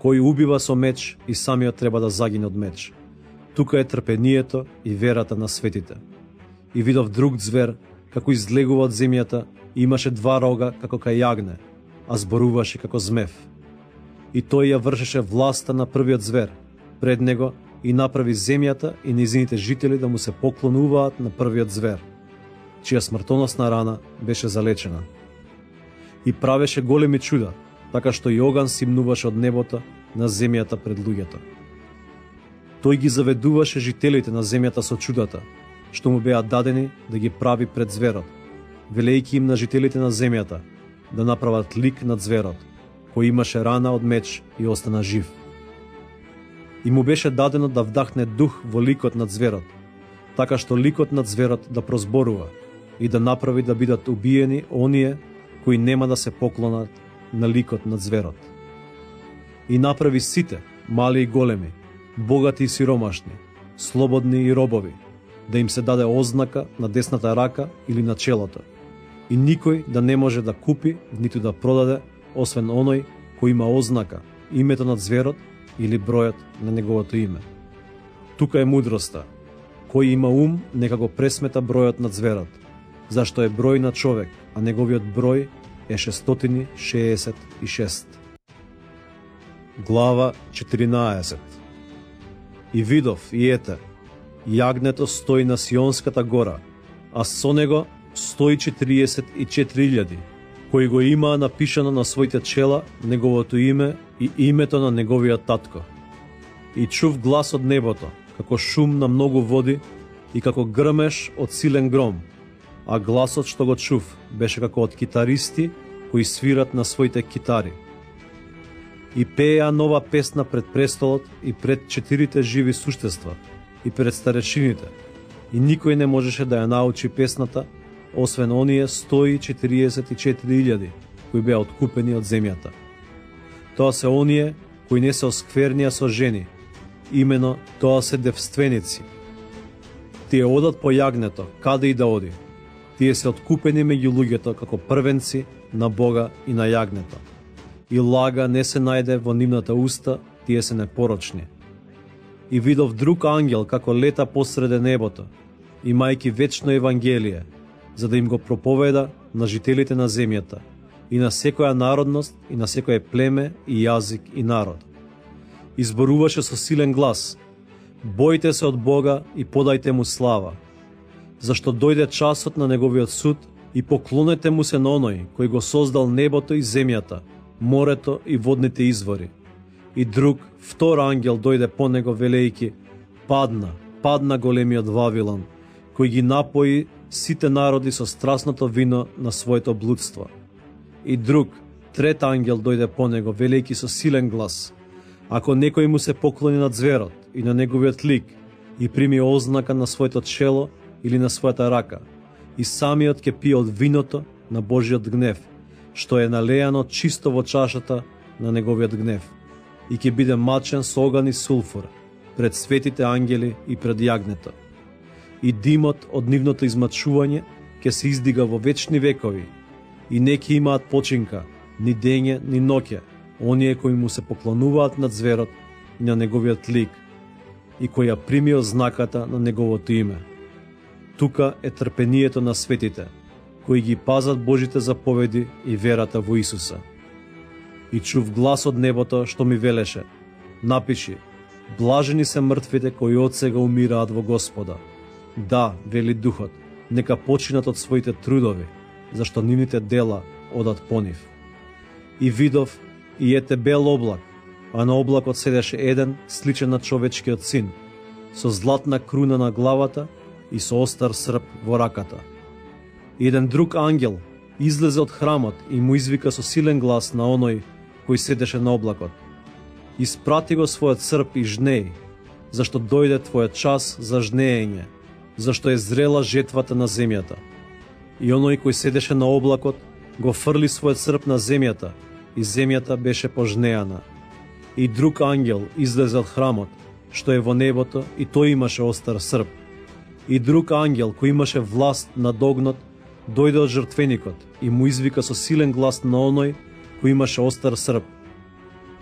Кој убива со меч и самиот треба да загине од меч. Тука е трпението и верата на светите. И видов друг ձвер како излегува од земјата и имаше 2 рога како кај јагне, а зборуваше како змев. И тој ја вршеше власта на првиот ձвер пред него и направи земјата и нејзините жители да му се поклонуваат на првиот ձвер. чија смртоносна рана беше залечена. И правеше големи чуда, така што и оган симнуваше од небото на земјата пред луѓето. Тој ги заведуваше жителите на земјата со чудата, што му беа дадени да ги прави пред зверот, велејќи им на жителите на земјата да направат лик на зверот, кој имаше рана од меч и остана жив. И му беше дадено да вдахне дух во ликот на зверот, така што ликот на зверот да прозборува и да направи да бидат убиени оние кои нема да се поклонат на ликот на зверот. И направи сите, мали и големи, богати и сиромашни, слободни и робови, да им се даде ознака на десната рака или на челото, и никој да не може да купи, ниту да продаде, освен оној кој има ознака, името на зверот или бројот на неговото име. Тука е мудроста. Кој има ум, нека го пресмета бројот на зверот, зашто е број на човек, а неговиот број е 666. Глава 14. И видов, и ете, јагнето стои на Сионската гора, а со него 144.000, кои го имаа напишано на своите чела неговото име и името на неговиот татко. И чув глас од небото, како шум на многу води и како грмеш од силен гром, а гласот што го чув беше како од китаристи кои свират на своите китари. И пееа нова песна пред престолот и пред 4 живи суштества и пред старешините, и никој не можеше да ја научи песната, освен оние 144.000 кои беа откупени од земјата. Тоа се оние кои не се осквернија со жени, имено тоа се девственици. Тие одат по јагнето, каде и да оди. Тие се откупени меѓу луѓето како првенци на Бога и на јагнето. И лага не се најде во нивната уста, тие се непорочни. И видов друг ангел како лета посреде небото, имајќи вечно евангелие, за да им го проповеда на жителите на земјата и на секоја народност и на секое племе и јазик и народ. Изборуваше со силен глас: бојте се од Бога и подајте му слава, зашто дојде часот на неговиот суд, и поклонете му се на оној кој го создал небото и земјата, морето и водните извори. И друг, втор ангел дојде по него велејќи: падна големиот Вавилон, кој ги напои сите народи со страсното вино на своето блудство. И друг, трет ангел дојде по него велејќи со силен глас: ако некој му се поклони на зверот и на неговиот лик и прими ознака на своето чело или на својата рака, и самиот ќе пие од виното на Божиот гнев, што е налејано чисто во чашата на неговиот гнев, и ќе биде мачен со оган и сулфур пред светите ангели и пред јагнето. И димот од нивното измачување ќе се издига во вечни векови, и не ќе имаат починка, ни дење, ни ноќе, оние кои му се поклонуваат на зверот и на неговиот лик, и кои ја примио знаката на неговото име. Тука е трпението на светите, кои ги пазат Божите заповеди и верата во Исуса. И чув глас од небото што ми велеше: напиши, блажени се мртвите кои од сега умираат во Господа. Да, вели Духот, нека починат од своите трудови, зашто нивните дела одат по нив. И видов, и ете бел облак, а на облакот седеше еден сличен на човечкиот син, со златна круна на главата и со остар срп во раката. И еден друг ангел излезе од храмот и му извика со силен глас на оној кој седеше на облакот: испрати го својот срп и жнеј, зашто дојде твојот час за жнеење, зашто е зрела жетвата на земјата. И оној кој седеше на облакот го фрли својот срп на земјата, и земјата беше пожнеана. И друг ангел излезе од храмот, што е во небото, и тој имаше остар срп. И друг ангел кој имаше власт над огнот дојде од жртвеникот и му извика со силен глас на оној кој имаше остар срп: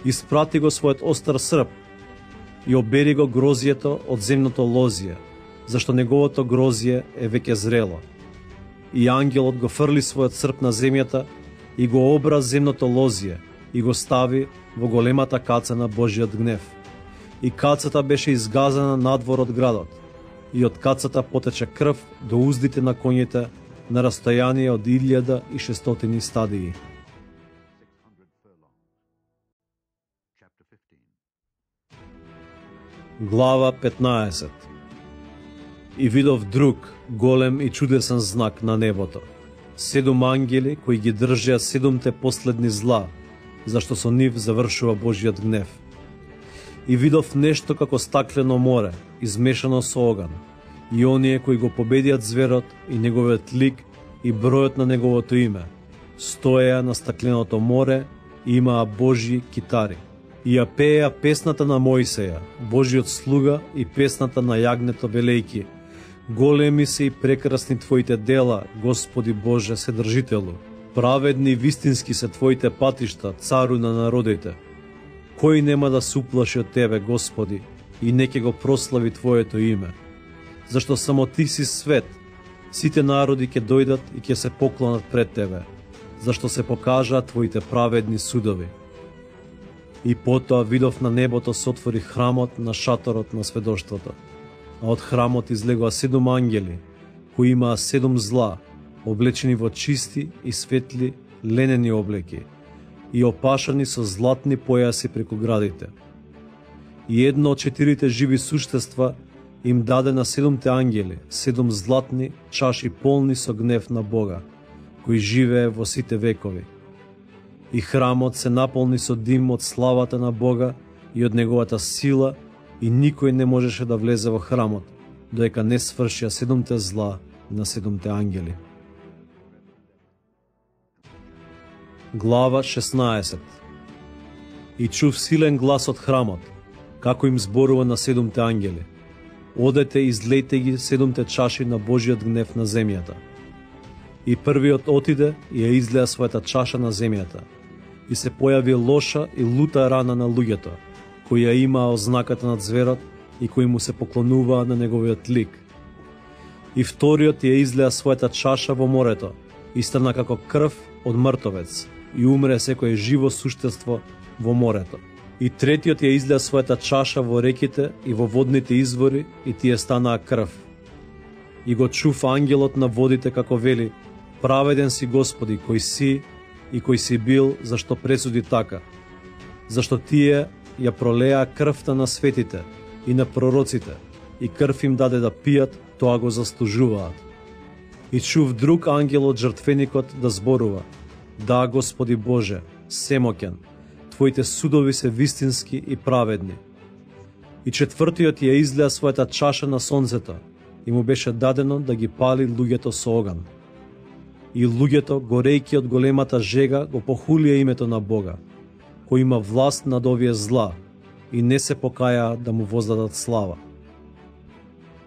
испрати го својот остар срп и обери го грозието од земното лозие, зашто неговото грозие е веќе зрело. И ангелот го фрли својот срп на земјата и го обра земното лозие и го стави во големата каца на Божиот гнев. И кацата беше изгазена надвор од градот, и од кацата потече крв до уздите на коњите на растојание од 1600 стадии. Глава 15. И видов друг, голем и чудесен знак на небото. 7 ангели кои ги држеа 7 последни зла, зашто со нив завршува Божиот гнев. И видов нешто како стаклено море, измешано со оган, и оние кои го победиат зверот и неговиот лик и бројот на неговото име, стоеа на стакленото море и имаа Божји китари. И ја пееа песната на Мојсеја, Божиот слуга, и песната на јагнето велејки: големи се и прекрасни Твоите дела, Господи Боже Седржителу. Праведни и вистински се Твоите патишта, Цару на народите. Кој нема да се уплаши од Тебе, Господи, и не ќе го прослави Твоето име? Зашто само Ти си свет, сите народи ќе дојдат и ќе се поклонат пред Тебе, зашто се покажаа Твоите праведни судови. И потоа видов на небото се отвори храмот на шаторот на сведоштвото, а од храмот излегоа 7 ангели, кои имаа 7 зла, облечени во чисти и светли ленени облеки и опашани со златни појаси преку градите. И едно од 4 живи суштества им даде на 7 ангели 7 златни чаши полни со гнев на Бога, кој живее во сите векови. И храмот се наполни со дим од славата на Бога и од неговата сила, и никој не можеше да влезе во храмот, додека не свршија 7 зла на 7 ангели. Глава 16. И чув силен глас од храмот, како им зборува на 7 ангели: одете и излејте ги 7 чаши на Божиот гнев на земјата. И првиот отиде и ја излеа својата чаша на земјата, и се појави лоша и лута рана на луѓето, кои ја имаа ознаката на зверот и кои му се поклонуваа на неговиот лик. И вториот ја излеа својата чаша во морето, и стана како крв од мртовец, и умре секое живо суштество во морето. И третиот ја излеа својата чаша во реките и во водните извори, и тие станаа крв. И го чув ангелот на водите како вели: праведен си, Господи, кој си и кој си бил, зашто пресуди така. Зашто тие ја пролеа крвта на светите и на пророците, и крв им даде да пијат, тоа го заслужуваат. И чув друг ангел од жртвеникот да зборува: да, Господи Боже, семоќен, Твоите судови се вистински и праведни. И четвртиот ја излеа својата чаша на сонцето, и му беше дадено да ги пали луѓето со оган. И луѓето, горејки од големата жега, го похулија името на Бога, кој има власт над овие зла, и не се покаја да му воздадат слава.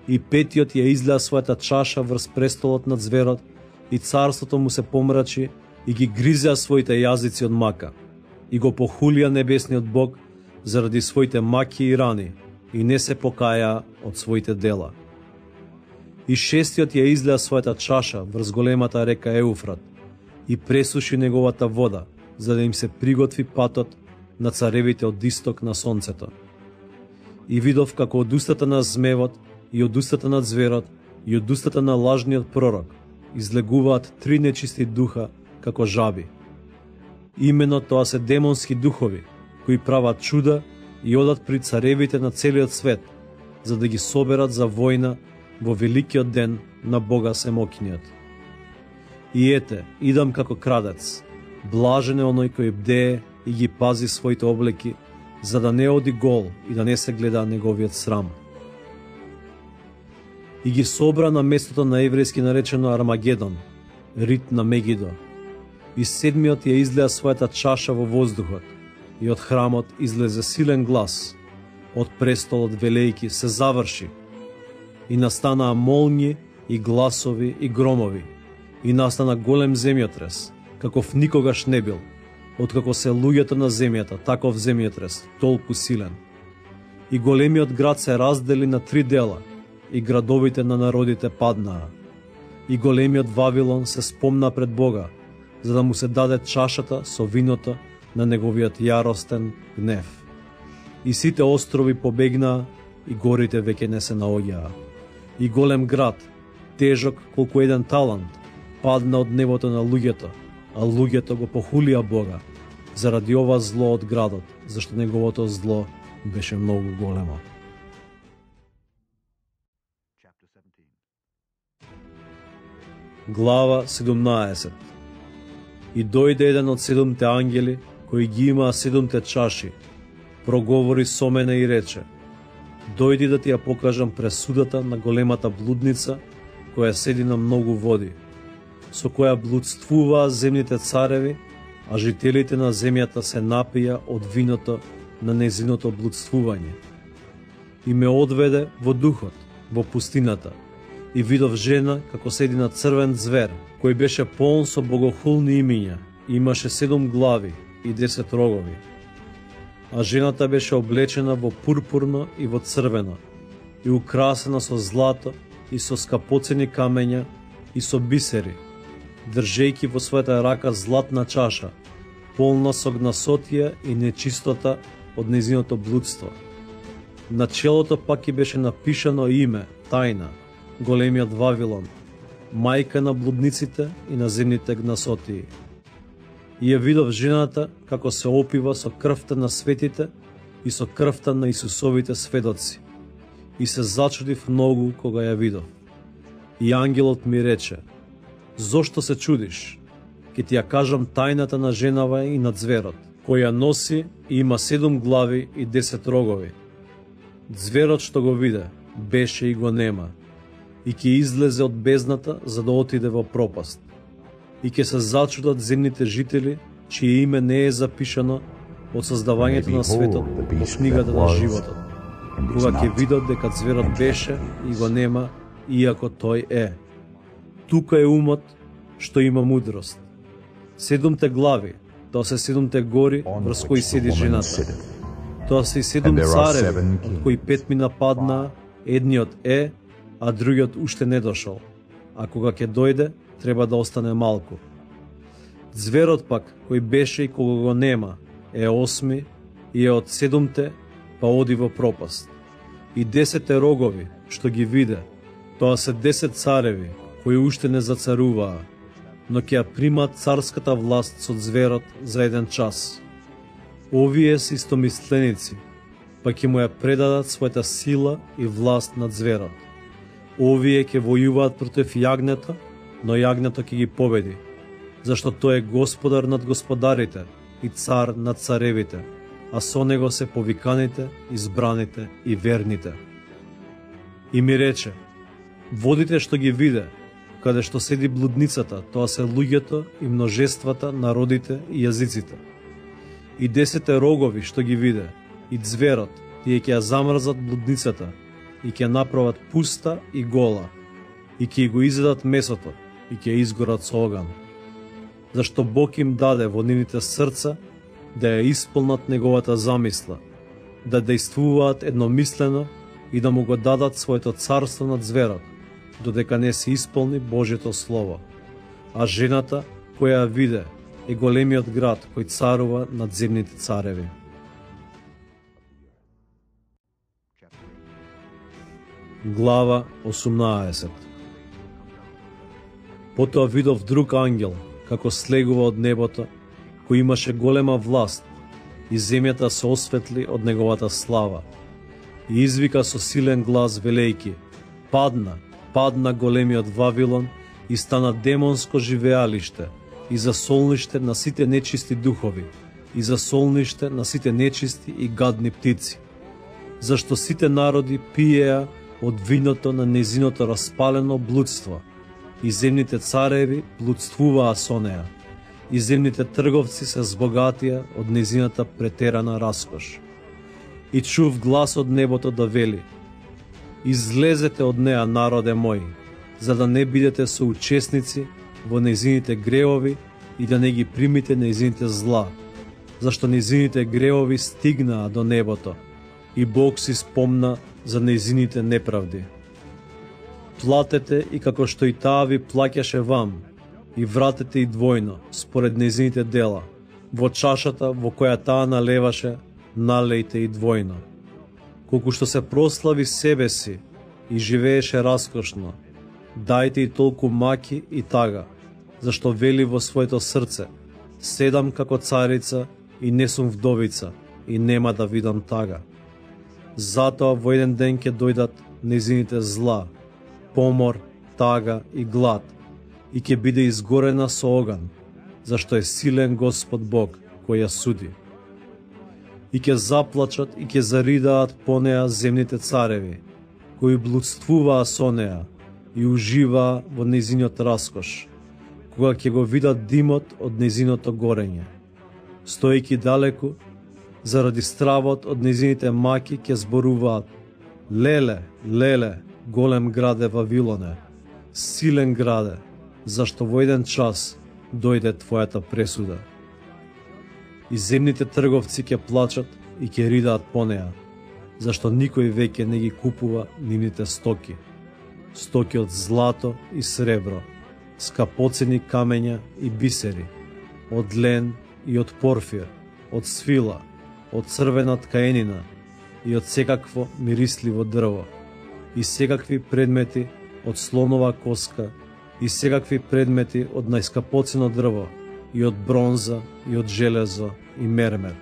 И петиот ја излеа својата чаша врз престолот над зверот, и царството му се помрачи, и ги гризеа своите јазици од мака, и го похулија небесниот Бог заради своите маки и рани, и не се покаја од своите дела. И шестиот ја излеа својата чаша врз големата река Еуфрат, и пресуши неговата вода, за да им се приготви патот на царевите од исток на сонцето. И видов како од устата на змевот, и од устата на зверот, и од устата на лажниот пророк излегуваат 3 нечисти духа како жаби. Имено тоа се демонски духови, кои прават чуда и одат при царевите на целиот свет, за да ги соберат за војна во великиот ден на Бога Семокиниот. И ете, идам како крадец, блажен е оној кој бдее и ги пази своите облеки, за да не оди гол и да не се гледа неговиот срам. И ги собра на местото на еврејски наречено Армагедон, рит на Мегидо. И седмиот ја излеа својата чаша во воздухот, и од храмот излезе силен глас, од престолот велејки: се заврши. И настанаа молњи и гласови и громови, и настана голем земјотрес, каков никогаш не бил, откако се луѓето на земјата, таков земјотрес, толку силен. И големиот град се раздели на 3 дела, и градовите на народите паднаа. И големиот Вавилон се спомна пред Бога, за да му се даде чашата со виното на неговиот јаростен гнев. И сите острови побегнаа, и горите веќе не се наоѓаа. И голем град, тежок колку еден талант, падна од небото на луѓето, а луѓето го похулија Бога заради ова зло од градот, зашто неговото зло беше многу големо. Глава 17. И дојде еден од 7 ангели, кои ги имаа 7 чаши, проговори со мене и рече: дојди да ти ја покажам пресудата на големата блудница, која седи на многу води, со која блудствуваа земните цареви, а жителите на земјата се напија од виното на незиното блудствување. И ме одведе во духот, во пустината, и видов жена како седи на црвен звер, кој беше полн со богохулни имиња, и имаше 7 глави и 10 рогови. А жената беше облечена во пурпурно и во црвено, и украсена со злато и со скапоцени камења и со бисери, држејќи во својата рака златна чаша, полна со гнасотија и нечистота од незиното блудство. На челото пак и беше напишано име, тајна, големиот Вавилон, мајка на блудниците и на земните гнасотии. И ја видов жената како се опива со крвта на светите и со крвта на Исусовите сведоци. И се зачудив многу кога ја видов. И ангелот ми рече: зошто се чудиш? Ке ти ја кажам тајната на женава и на зверот, која носи и има 7 глави и 10 рогови. Зверот што го виде, беше и го нема, и ќе излезе од бездната за да отиде во пропаст. И ќе се зачудат земните жители, чие име не е запишано од создавањето на светот во книгата на животот, кога ќе видат дека зверот беше и го нема, иако тој е. Тука е умот што има мудрост. 7 глави, тоа се 7 гори врз кои седи жената. Тоа се и 7 цареви, од кои 5 ми нападнаа, едниот е, а другиот уште не дошол, а кога ќе дојде, треба да остане малку. Зверот пак, кој беше и кога го нема, е 8 и е од 7 па оди во пропаст. И 10 рогови, што ги виде, тоа се 10 цареви, кои уште не зацаруваа, но ќе ја примат царската власт со зверот за еден час. Овие се истомисленици, па ќе му ја предадат својата сила и власт над зверот. Овие ќе војуваат против јагнето, но јагнето ќе ги победи, зашто тој е господар над господарите и цар над царевите, а со него се повиканите, избраните и верните. И ми рече: водите што ги виде, каде што седи блудницата, тоа се луѓето и множествата, народите и јазиците. И 10 рогови што ги виде, и зверот, тие ќе ја замрзат блудницата, и ќе направат пуста и гола, и ќе го изедат месото, и ќе изгорат со оган. Зашто Бог им даде во нивните срца да ја исполнат неговата замисла, да дејствуваат едномислено и да му го дадат своето царство над зверот, додека не се исполни Божјето Слово. А жената, која ја виде, е големиот град кој царува над земните цареви. Глава 18. Потоа видов друг ангел, како слегува од небото, кој имаше голема власт, и земјата се осветли од неговата слава. И извика со силен глас велејки: падна, падна големиот Вавилон и стана демонско живеалиште и засолниште на сите нечисти духови и засолниште на сите нечисти и гадни птици. Зашто сите народи пиеа од виното на незиното распалено блудство, и земните цареви блудствуваа со неа, и земните трговци се збогатија од незината претерана раскош. И чув глас од небото да вели: излезете од неа, народе мој, за да не бидете соучесници во незините греови и да не ги примите незините зла, зашто незините греови стигнаа до небото, и Бог си спомна за незините неправди. Платете и како што и таа ви плаќаше вам, и вратете и двојно, според незините дела. Во чашата во која таа налеваше, налејте и двојно. Колку што се прослави себе си и живееше раскошно, дајте и толку маки и тага, зашто вели во своето срце: седам како царица и не сум вдовица и нема да видам тага. Затоа во еден ден ќе дојдат незините зла, помор, тага и глад, и ќе биде изгорена со оган, зашто е силен Господ Бог кој ја суди. И ќе заплачат и ќе заридаат по неа земните цареви, кои блудствуваа со неа и уживаа во незиниот раскош, кога ќе го видат димот од незиното горење. Стоејќи далеку, заради стравот од незините маки ќе зборуваат: леле, леле, голем граде Вавилоне, силен граде, зашто во еден час дојде твојата пресуда. И земните трговци ќе плачат и ќе ридаат по неа, зашто никој веќе не ги купува нивните стоки. Стоки од злато и сребро, скапоцени камења и бисери, од лен и од порфир, од свила, од црвена ткаенина и од секакво мирисливо дрво, и секакви предмети од слонова коска, и секакви предмети од најскапоцено дрво, и од бронза, и од железо, и мермер,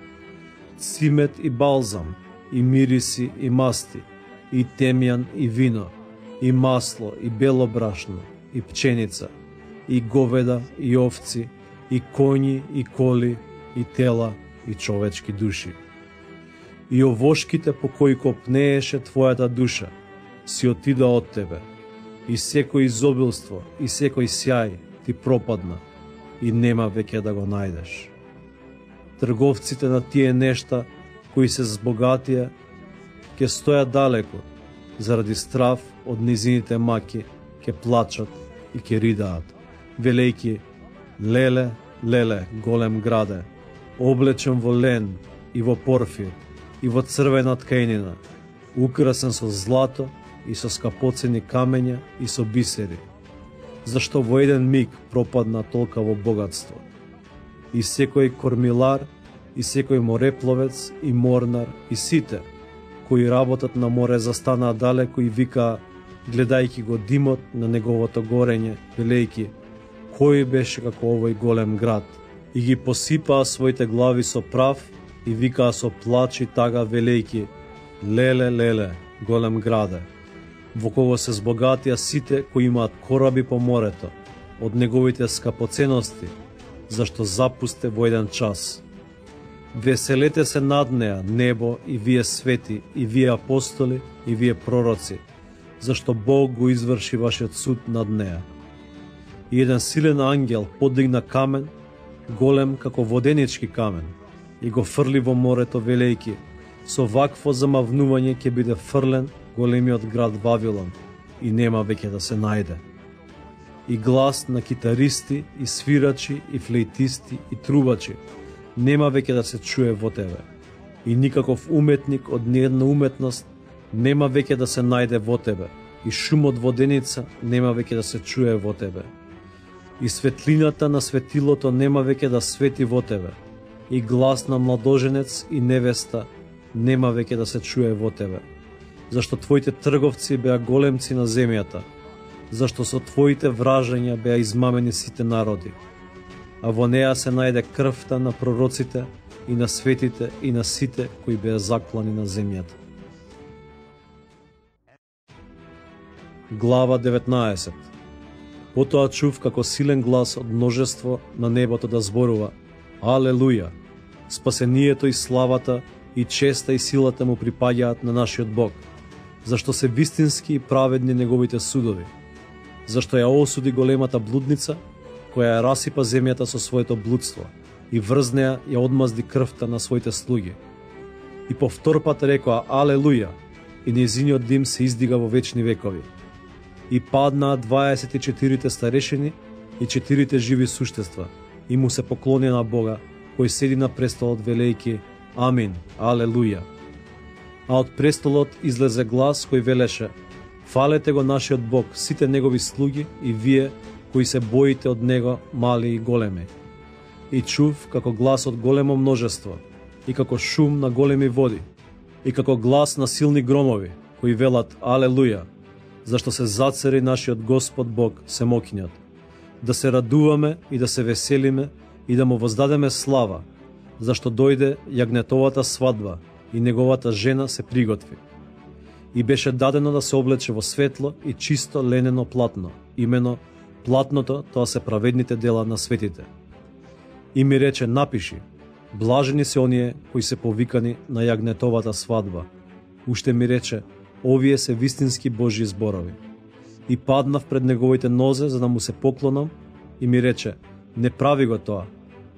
цимет и балзам, и мириси и масти, и темјан и вино, и масло, и бело брашно, и пченица, и говеда, и овци, и коњи, и коли, и тела, и човечки души. И овошките по кои копнееше твојата душа си отида од тебе, и секој изобилство и секој сјај ти пропадна и нема веќе да го најдеш. Трговците на тие нешта кои се збогатија ќе стојат далеку, заради страв од низините маки ќе плачат и ќе ридаат, велејки: леле, леле, голем граде, облечен во лен и во порфир и во црвена ткаенина, украсен со злато и со скапоцени камења и со бисери, зашто во еден миг пропадна толкаво богатство. И секој кормилар, и секој морепловец, и морнар, и сите, кои работат на море, застанаа далеку и викаа, гледајќи го димот на неговото горење, велејки: кој беше како овој голем град? И ги посипаа своите глави со прав и викаа со плач и тага, велејки: леле, леле, голем граде, во кого се збогатија сите кои имаат кораби по морето, од неговите скапоценности, зашто запусте во еден час. Веселете се над неа, небо, и вие свети, и вие апостоли, и вие пророци, зашто Бог го изврши вашиот суд над неа. И еден силен ангел подигна камен, голем како воденички камен, и го фрли во морето, велејки: со вакво замавнување ќе биде фрлен големиот град Вавилон и нема веќе да се најде. И глас на китаристи, и свирачи, и флейтисти, и трубачи нема веќе да се чуе во тебе. И никаков уметник од ниедна уметност нема веќе да се најде во тебе. И шум од воденица нема веќе да се чуе во тебе. И светлината на светилото нема веќе да свети во тебе. И глас на младоженец и невеста нема веќе да се чуе во тебе. Зашто твоите трговци беа големци на земјата, зашто со твоите вражања беа измамени сите народи. А во неа се најде крвта на пророците и на светите и на сите кои беа заклани на земјата. Глава 19. Потоа чув како силен глас од множество на небото да зборува: Алелуја! Спасението и славата и честа и силата му припаѓаат на нашиот Бог, зашто се вистински и праведни неговите судови, зашто ја осуди големата блудница, која ја расипа земјата со своето блудство и врз неа ја одмазди крвта на своите слуги. И повтор пат рекоа: Алелуја! И нејзиниот дим се издига во вечни векови. И паднаа 24 старешини и 4 живи суштества и му се поклонија на Бога, кој седи на престолот, велејки: Амин, Алелуја! А од престолот излезе глас кој велеше: Фалете го нашиот Бог, сите негови слуги и вие кои се боите од него, мали и големи. И чув како глас од големо множество, и како шум на големи води, и како глас на силни громови, кои велат: Алелуја! Зашто се зацари нашиот Господ Бог, Семокињот. да се радуваме и да се веселиме и да му воздадеме слава, зашто дојде јагнетовата свадба и неговата жена се приготви. И беше дадено да се облече во светло и чисто ленено платно, имено платното, тоа се праведните дела на светите. И ми рече, напиши, блажени се оние кои се повикани на јагнетовата свадба. Уште ми рече, овие се вистински Божји зборови. И паднав пред неговите нозе за да му се поклонам и ми рече, не прави го тоа.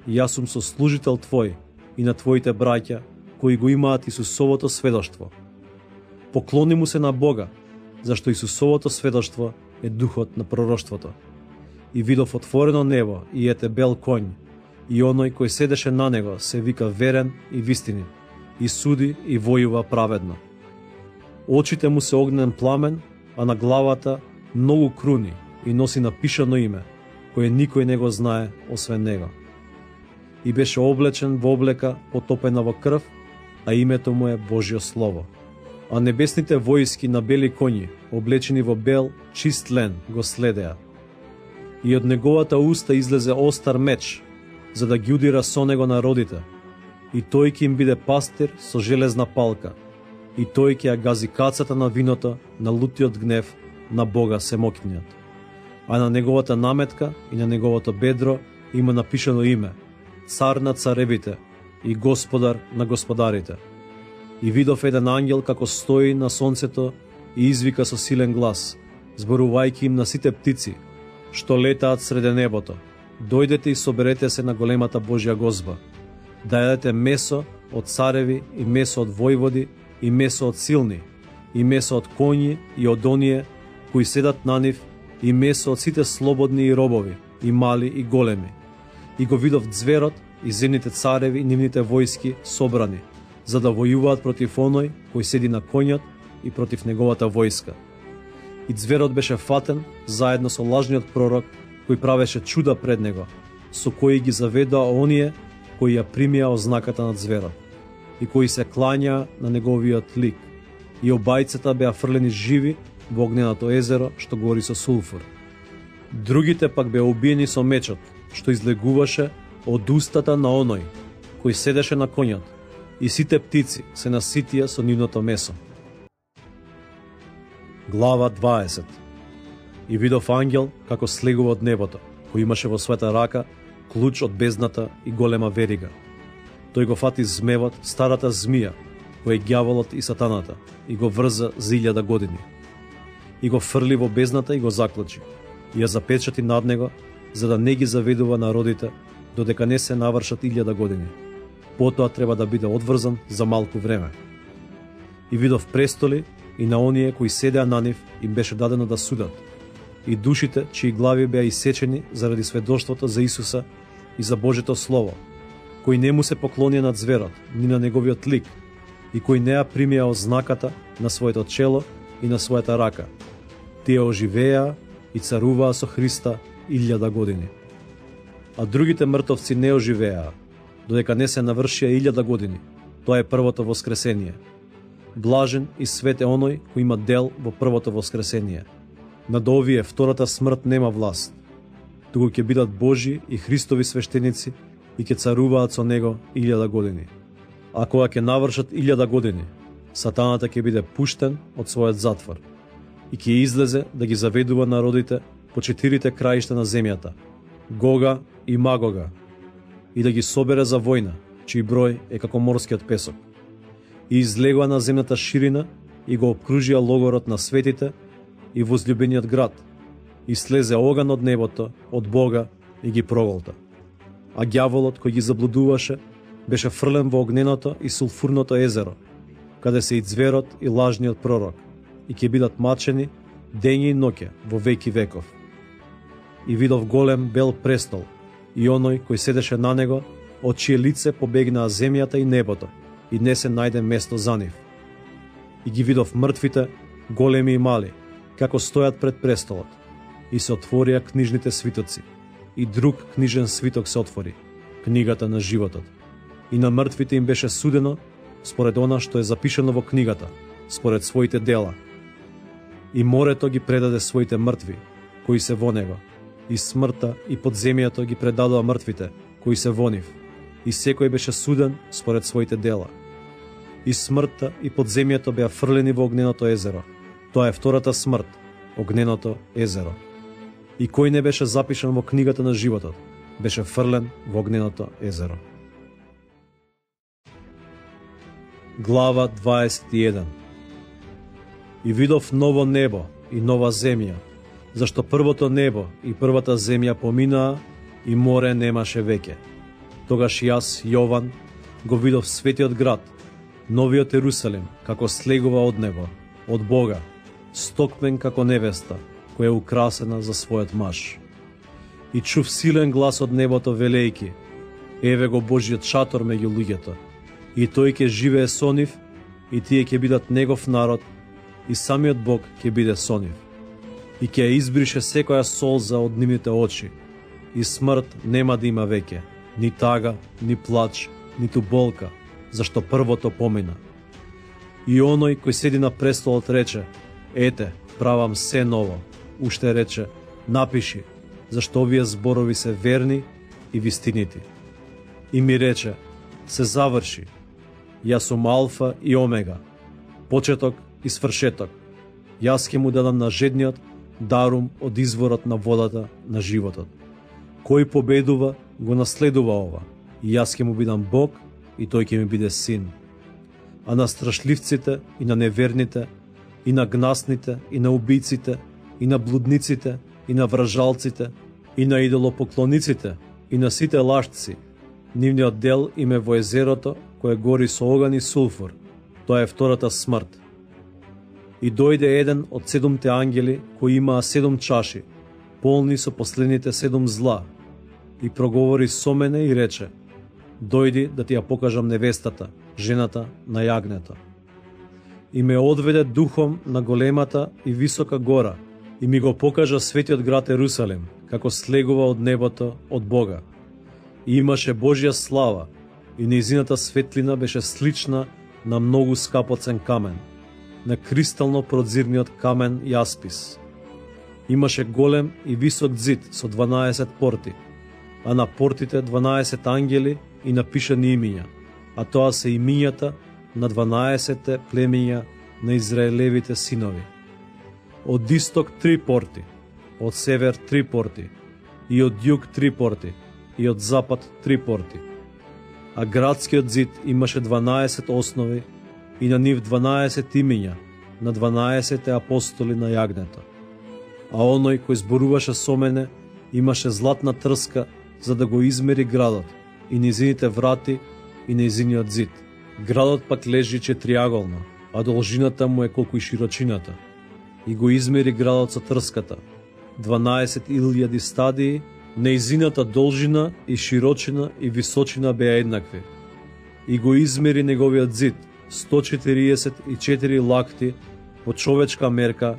Јас сум сослужител твој и на твоите браќа кои го имаат Исусовото сведоштво. Поклони му се на Бога, зашто Исусовото сведоштво е духот на пророштвото. И видов отворено небо и ете бел конј, и оној кој седеше на него се вика верен и вистинит, и суди и војува праведно. Очите му се огнен пламен, а на главата многу круни и носи напишано име, кое никој не го знае освен него. И беше облечен во облека потопена во крв, а името му е Божјо Слово. А небесните војски на бели коњи, облечени во бел, чист лен, го следеа. И од неговата уста излезе остар меч, за да ги удира со него народите, и тој ќе им биде пастир со железна палка, и тој ќе ја гази кацата на виното на лутиот гнев на Бога Семокниот. А на неговата наметка и на неговото бедро има напишано име, Цар на царевите и Господар на господарите. И видов еден ангел како стои на сонцето и извика со силен глас, зборувајќи им на сите птици, што летаат среде небото, дојдете и соберете се на големата Божја гозба, да јадете месо од цареви и месо од војводи и месо од силни, и месо од коњи и од оние кои седат на нив, и месо од сите слободни и робови, и мали и големи. И го видов ѕверот и земните цареви и нивните војски собрани, за да војуваат против оној кој седи на конјот и против неговата војска. И ձверот беше фатен заедно со лажниот пророк кој правеше чуда пред него, со кои ги заведоа оние кои ја примија ознаката на ձверот и кои се клањаа на неговиот лик. И обајцата беа фрлени живи во огненото езеро што гори со сулфур. Другите пак беа убиени со мечот, што излегуваше од устата на оној кој седеше на конјот, и сите птици се наситија со нивното месо. Глава 20. И видов ангел како слегува од небото, кој имаше во својата рака клуч од бездната и голема верига. Тој го фати змевот, старата змија, кој е ѓаволот и сатаната, и го врза за 1000 години. И го фрли во бездната и го заклучи, и ја запечати над него, за да не ги заведува народите, додека не се навршат 1000 години. Потоа треба да биде одврзан за малку време. И видов престоли, и на оние кои седеа на нив им беше дадено да судат, и душите чии глави беа исечени заради сведоштвото за Исуса и за Божето Слово, кои не му се поклонија на ձверот, ни на неговиот лик, и кои не ја примија ознаката на своето чело и на својата рака. Тие оживеа и царуваа со Христа 1000 години. А другите мртовци не оживеа, додека не се навршија 1000 години. Тоа е првото воскресение. Блажен и свет е оној кој има дел во првото воскресение. Над овие втората смрт нема власт, туку ќе бидат Божји и Христови свештеници и ќе царуваат со него 1000 години. А кога ќе навршат 1000 години, сатаната ќе биде пуштен од својот затвор и ќе излезе да ги заведува народите по 4 краишта на земјата, Гога и Магога, и да ги собере за војна, чиј број е како морскиот песок. И излегоа на земната ширина и го обкружија логорот на светите и возлюбениот град, и слезе оган од небото, од Бога, и ги проголта. А ѓаволот кој ги заблудуваше беше фрлен во огненото и сулфурното езеро, каде се и ձверот и лажниот пророк, и ќе бидат мачени дење и ноќе во веки веков. И видов голем бел престол, и оној кој седеше на него, од чие лице побегнаа земјата и небото, и не се најде место за нив. И ги видов мртвите, големи и мали, како стојат пред престолот, и се отворија книжните свитоци, и друг книжен свиток се отвори, книгата на животот. И на мртвите им беше судено според она што е запишано во книгата, според своите дела. И морето ги предаде своите мртви, кои се во него, И смртта и подземјето ги предадоа мртвите, кои се во нив, и секој беше суден според своите дела. И смртта и подземјето беа фрлени во огненото езеро. Тоа е втората смрт, огненото езеро. И кој не беше запишан во книгата на животот, беше фрлен во огненото езеро. Глава 21. И видов ново небо и нова земја, зашто првото небо и првата земја поминаа и море немаше веќе. Тогаш јас, Јован, го видов светиот град, новиот Ерусалим, како слегува од небо, од Бога, стокмен како невеста, која е украсена за својот маж. И чув силен глас од небото велејки: еве го Божиот шатор меѓу луѓето, и тој ќе живее со нив, и тие ќе бидат негов народ, и самиот Бог ќе биде со нив. И ќе избрише секоја солза од нивните очи, и смрт нема да има веќе, ни тага, ни плач, ниту болка, зашто првото помина. И оној кој седи на престолот рече: ете, правам се ново. Уште рече: напиши, зашто овие зборови се верни и вистинити. И ми рече: се заврши. Јас сум Алфа и Омега, почеток и свршеток. Јас ќе му дадам на жедниот дарум од изворот на водата на животот. Кој победува, го наследува ова, и јас ќе му бидам Бог, и тој ќе ми биде син. А на страшливците и на неверните, и на гнасните, и на убийците, и на блудниците, и на вражалците, и на идолопоклониците, и на сите лажци, нивниот дел им е во езерото, кое гори со оган и сулфур. Тоа е втората смрт. И дојде еден од 7 ангели, кои имаа 7 чаши, полни со последните 7 зла, и проговори со мене и рече: дојди да ти ја покажам невестата, жената на јагнето. И ме одведе духом на големата и висока гора, и ми го покажа светиот град Ерусалим, како слегува од небото од Бога. И имаше Божја слава, и нејзината светлина беше слична на многу скапоцен камен, на кристално продзирниот камен јаспис. Имаше голем и висок зид со 12 порти, а на портите 12 ангели и напишани имиња, а тоа се имињата на 12 племења на Израелевите синови. Од исток 3 порти, од север 3 порти, и од југ 3 порти, и од запад 3 порти. А градскиот зид имаше 12 основи и на нив 12 имиња на 12 апостоли на јагнето. А оној кој зборуваше со мене имаше златна трска за да го измери градот и низините врати и низиниот зид. Градот пак лежи четириаголно, а должината му е колку и широчината. И го измери градот со трската, 12.000 стадии, неизината должина и широчина и височина беа еднакви. И го измери неговиот зид, 144 лакти по човечка мерка,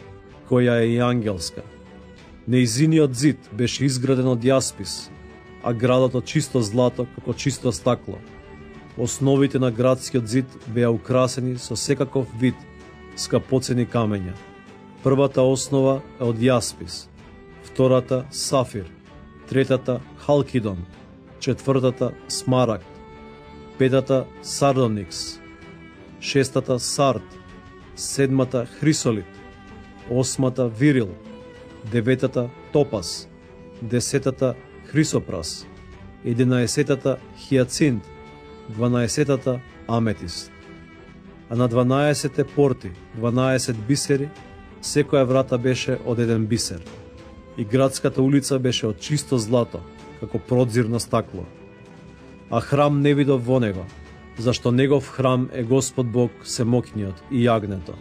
која е и ангелска. Неизиниот зид беше изграден од јаспис, а градот од чисто злато како чисто стакло. Основите на градскиот зид беа украсени со секаков вид скапоцени камења. Првата основа е од јаспис, втората сафир, третата халкидон, четвртата смарагд, петата сардоникс, шестата сард, седмата хрисолит, осмата вирил, деветата топас, десетата хрисопрас, 11-тата хијацинт, 12-тата аметист. А на 12 порти, 12 бисери, секоја врата беше од еден бисер. И градската улица беше од чисто злато, како продзирно стакло. А храм не видов во него, зашто негов храм е Господ Бог Семокниот и јагнето.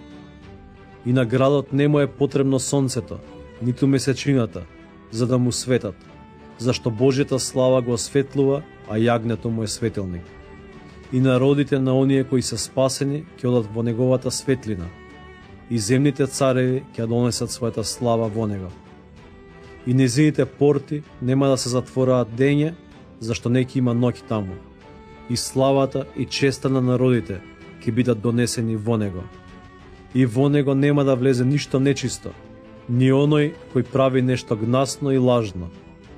И на градот не му е потребно сонцето, ниту месечината, за да му светат, зашто Божјата слава го осветлува, а јагнето му е светилник. И народите на оние кои се спасени ќе одат во неговата светлина, и земните цареви ќе донесат својата слава во него. И незините порти нема да се затвораат дење, зашто не ќе има ноќ таму. И славата и честа на народите ќе бидат донесени во него. И во него нема да влезе ништо нечисто, ни оној кој прави нешто гнасно и лажно,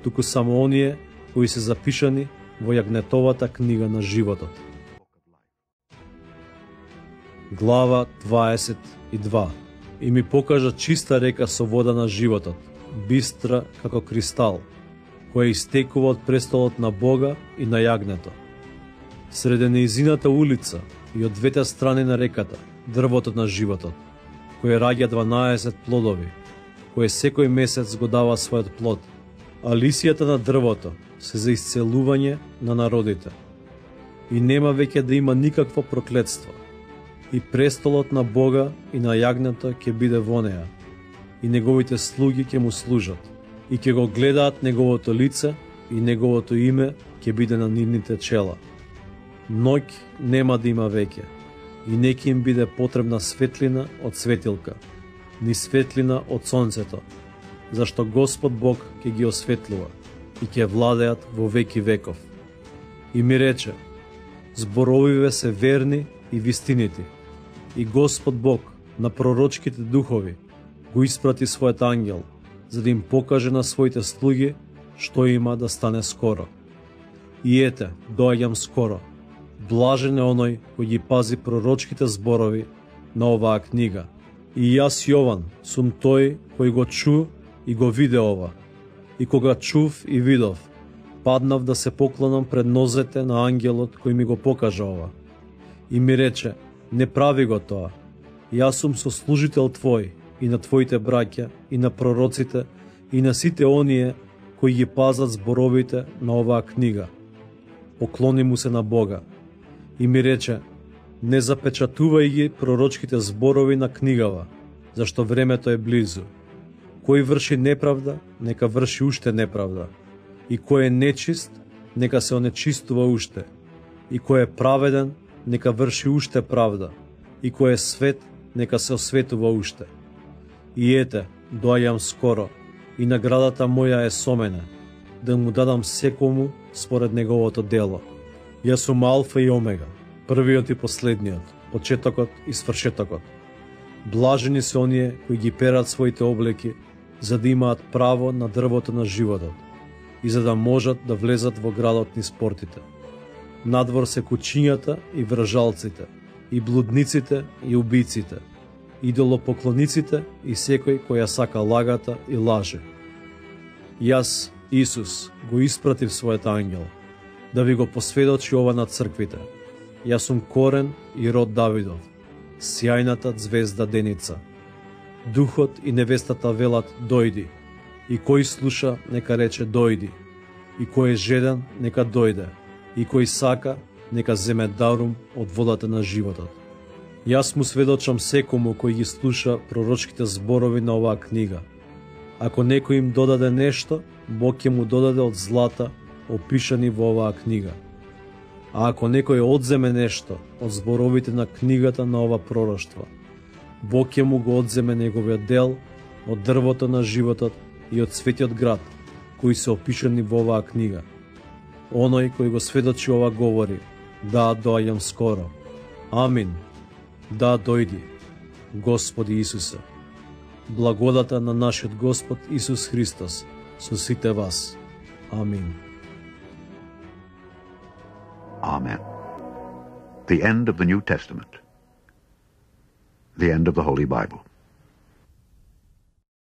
туку само оние кои се запишани во јагнетовата книга на животот. Глава 22. И ми покажа чиста река со вода на животот, бистра како кристал, која истекува од престолот на Бога и на јагнето. Среде неизината улица и од двете страни на реката, дрвото на животот, кој раѓа 12 плодови, кој секој месец го дава својот плод, а лисијата на дрвото се за исцелување на народите. И нема веќе да има никакво проклетство. И престолот на Бога и на јагнето ќе биде во неа, и неговите слуги ќе му служат, и ќе го гледаат неговото лице, и неговото име ќе биде на нивните чела. Ноќ нема да има веќе, и не ќе им биде потребна светлина од светилка, ни светлина од сонцето, зашто Господ Бог ќе ги осветлува и ќе владеат во веки веков. И ми рече, зборовиве се верни и вистинити, и Господ Бог на пророчките духови го испрати својот ангел, за да им покаже на своите слуги што има да стане скоро. И ете, доаѓам скоро. Блажен е оној кој ги пази пророчките зборови на оваа книга. И јас, Јован, сум тој кој го чу и го виде ова. И кога чув и видов, паднав да се поклонам пред нозете на ангелот кој ми го покажа ова. И ми рече, не прави го тоа. Јас сум сослужител твој и на твоите браќа и на пророците и на сите оние кои ги пазат зборовите на оваа книга. Поклони му се на Бога. И ми рече, не запечатувај ги пророчките зборови на книгава, зашто времето е близу. Кој врши неправда, нека врши уште неправда. И кој е нечист, нека се онечистува уште. И кој е праведен, нека врши уште правда. И кој е свет, нека се осветува уште. И ете, доаѓам скоро, и наградата моја е со мене, да му дадам секому според неговото дело. Јас сум Алфа и Омега, првиот и последниот, почетокот и свршетокот. Блажени се оние кои ги перат своите облеки, за да имаат право на дрвото на животот и за да можат да влезат во градот низ портите. Надвор се кучињата и вражалците, и блудниците и убиците, идолопоклониците и секој кој ја сака лагата и лаже. Јас, Исус, го испратив својот ангел, да ви го посведочи ова на црквите. Јас сум корен и род Давидов, сјајната звезда деница. Духот и невестата велат дојди, и кој слуша нека рече дојди, и кој е жеден нека дојде, и кој сака нека земе дарум од водата на животот. Јас му сведочам секому кој ги слуша пророчките зборови на оваа книга. Ако некој им додаде нешто, Бог ќе му додаде од злата опишани во оваа книга. А ако некој одземе нешто од зборовите на книгата на ова пророштво, Бог ќе му го одземе неговиот дел од дрвото на животот и од светиот град, кои се опишани во оваа книга. Оној кој го сведочи ова говори, да, доаѓам скоро. Амин. Да, дојди, Господи Исусе. Благодата на нашиот Господ Исус Христос со сите вас. Амин. Amen. The end of the New Testament. The end of the Holy Bible.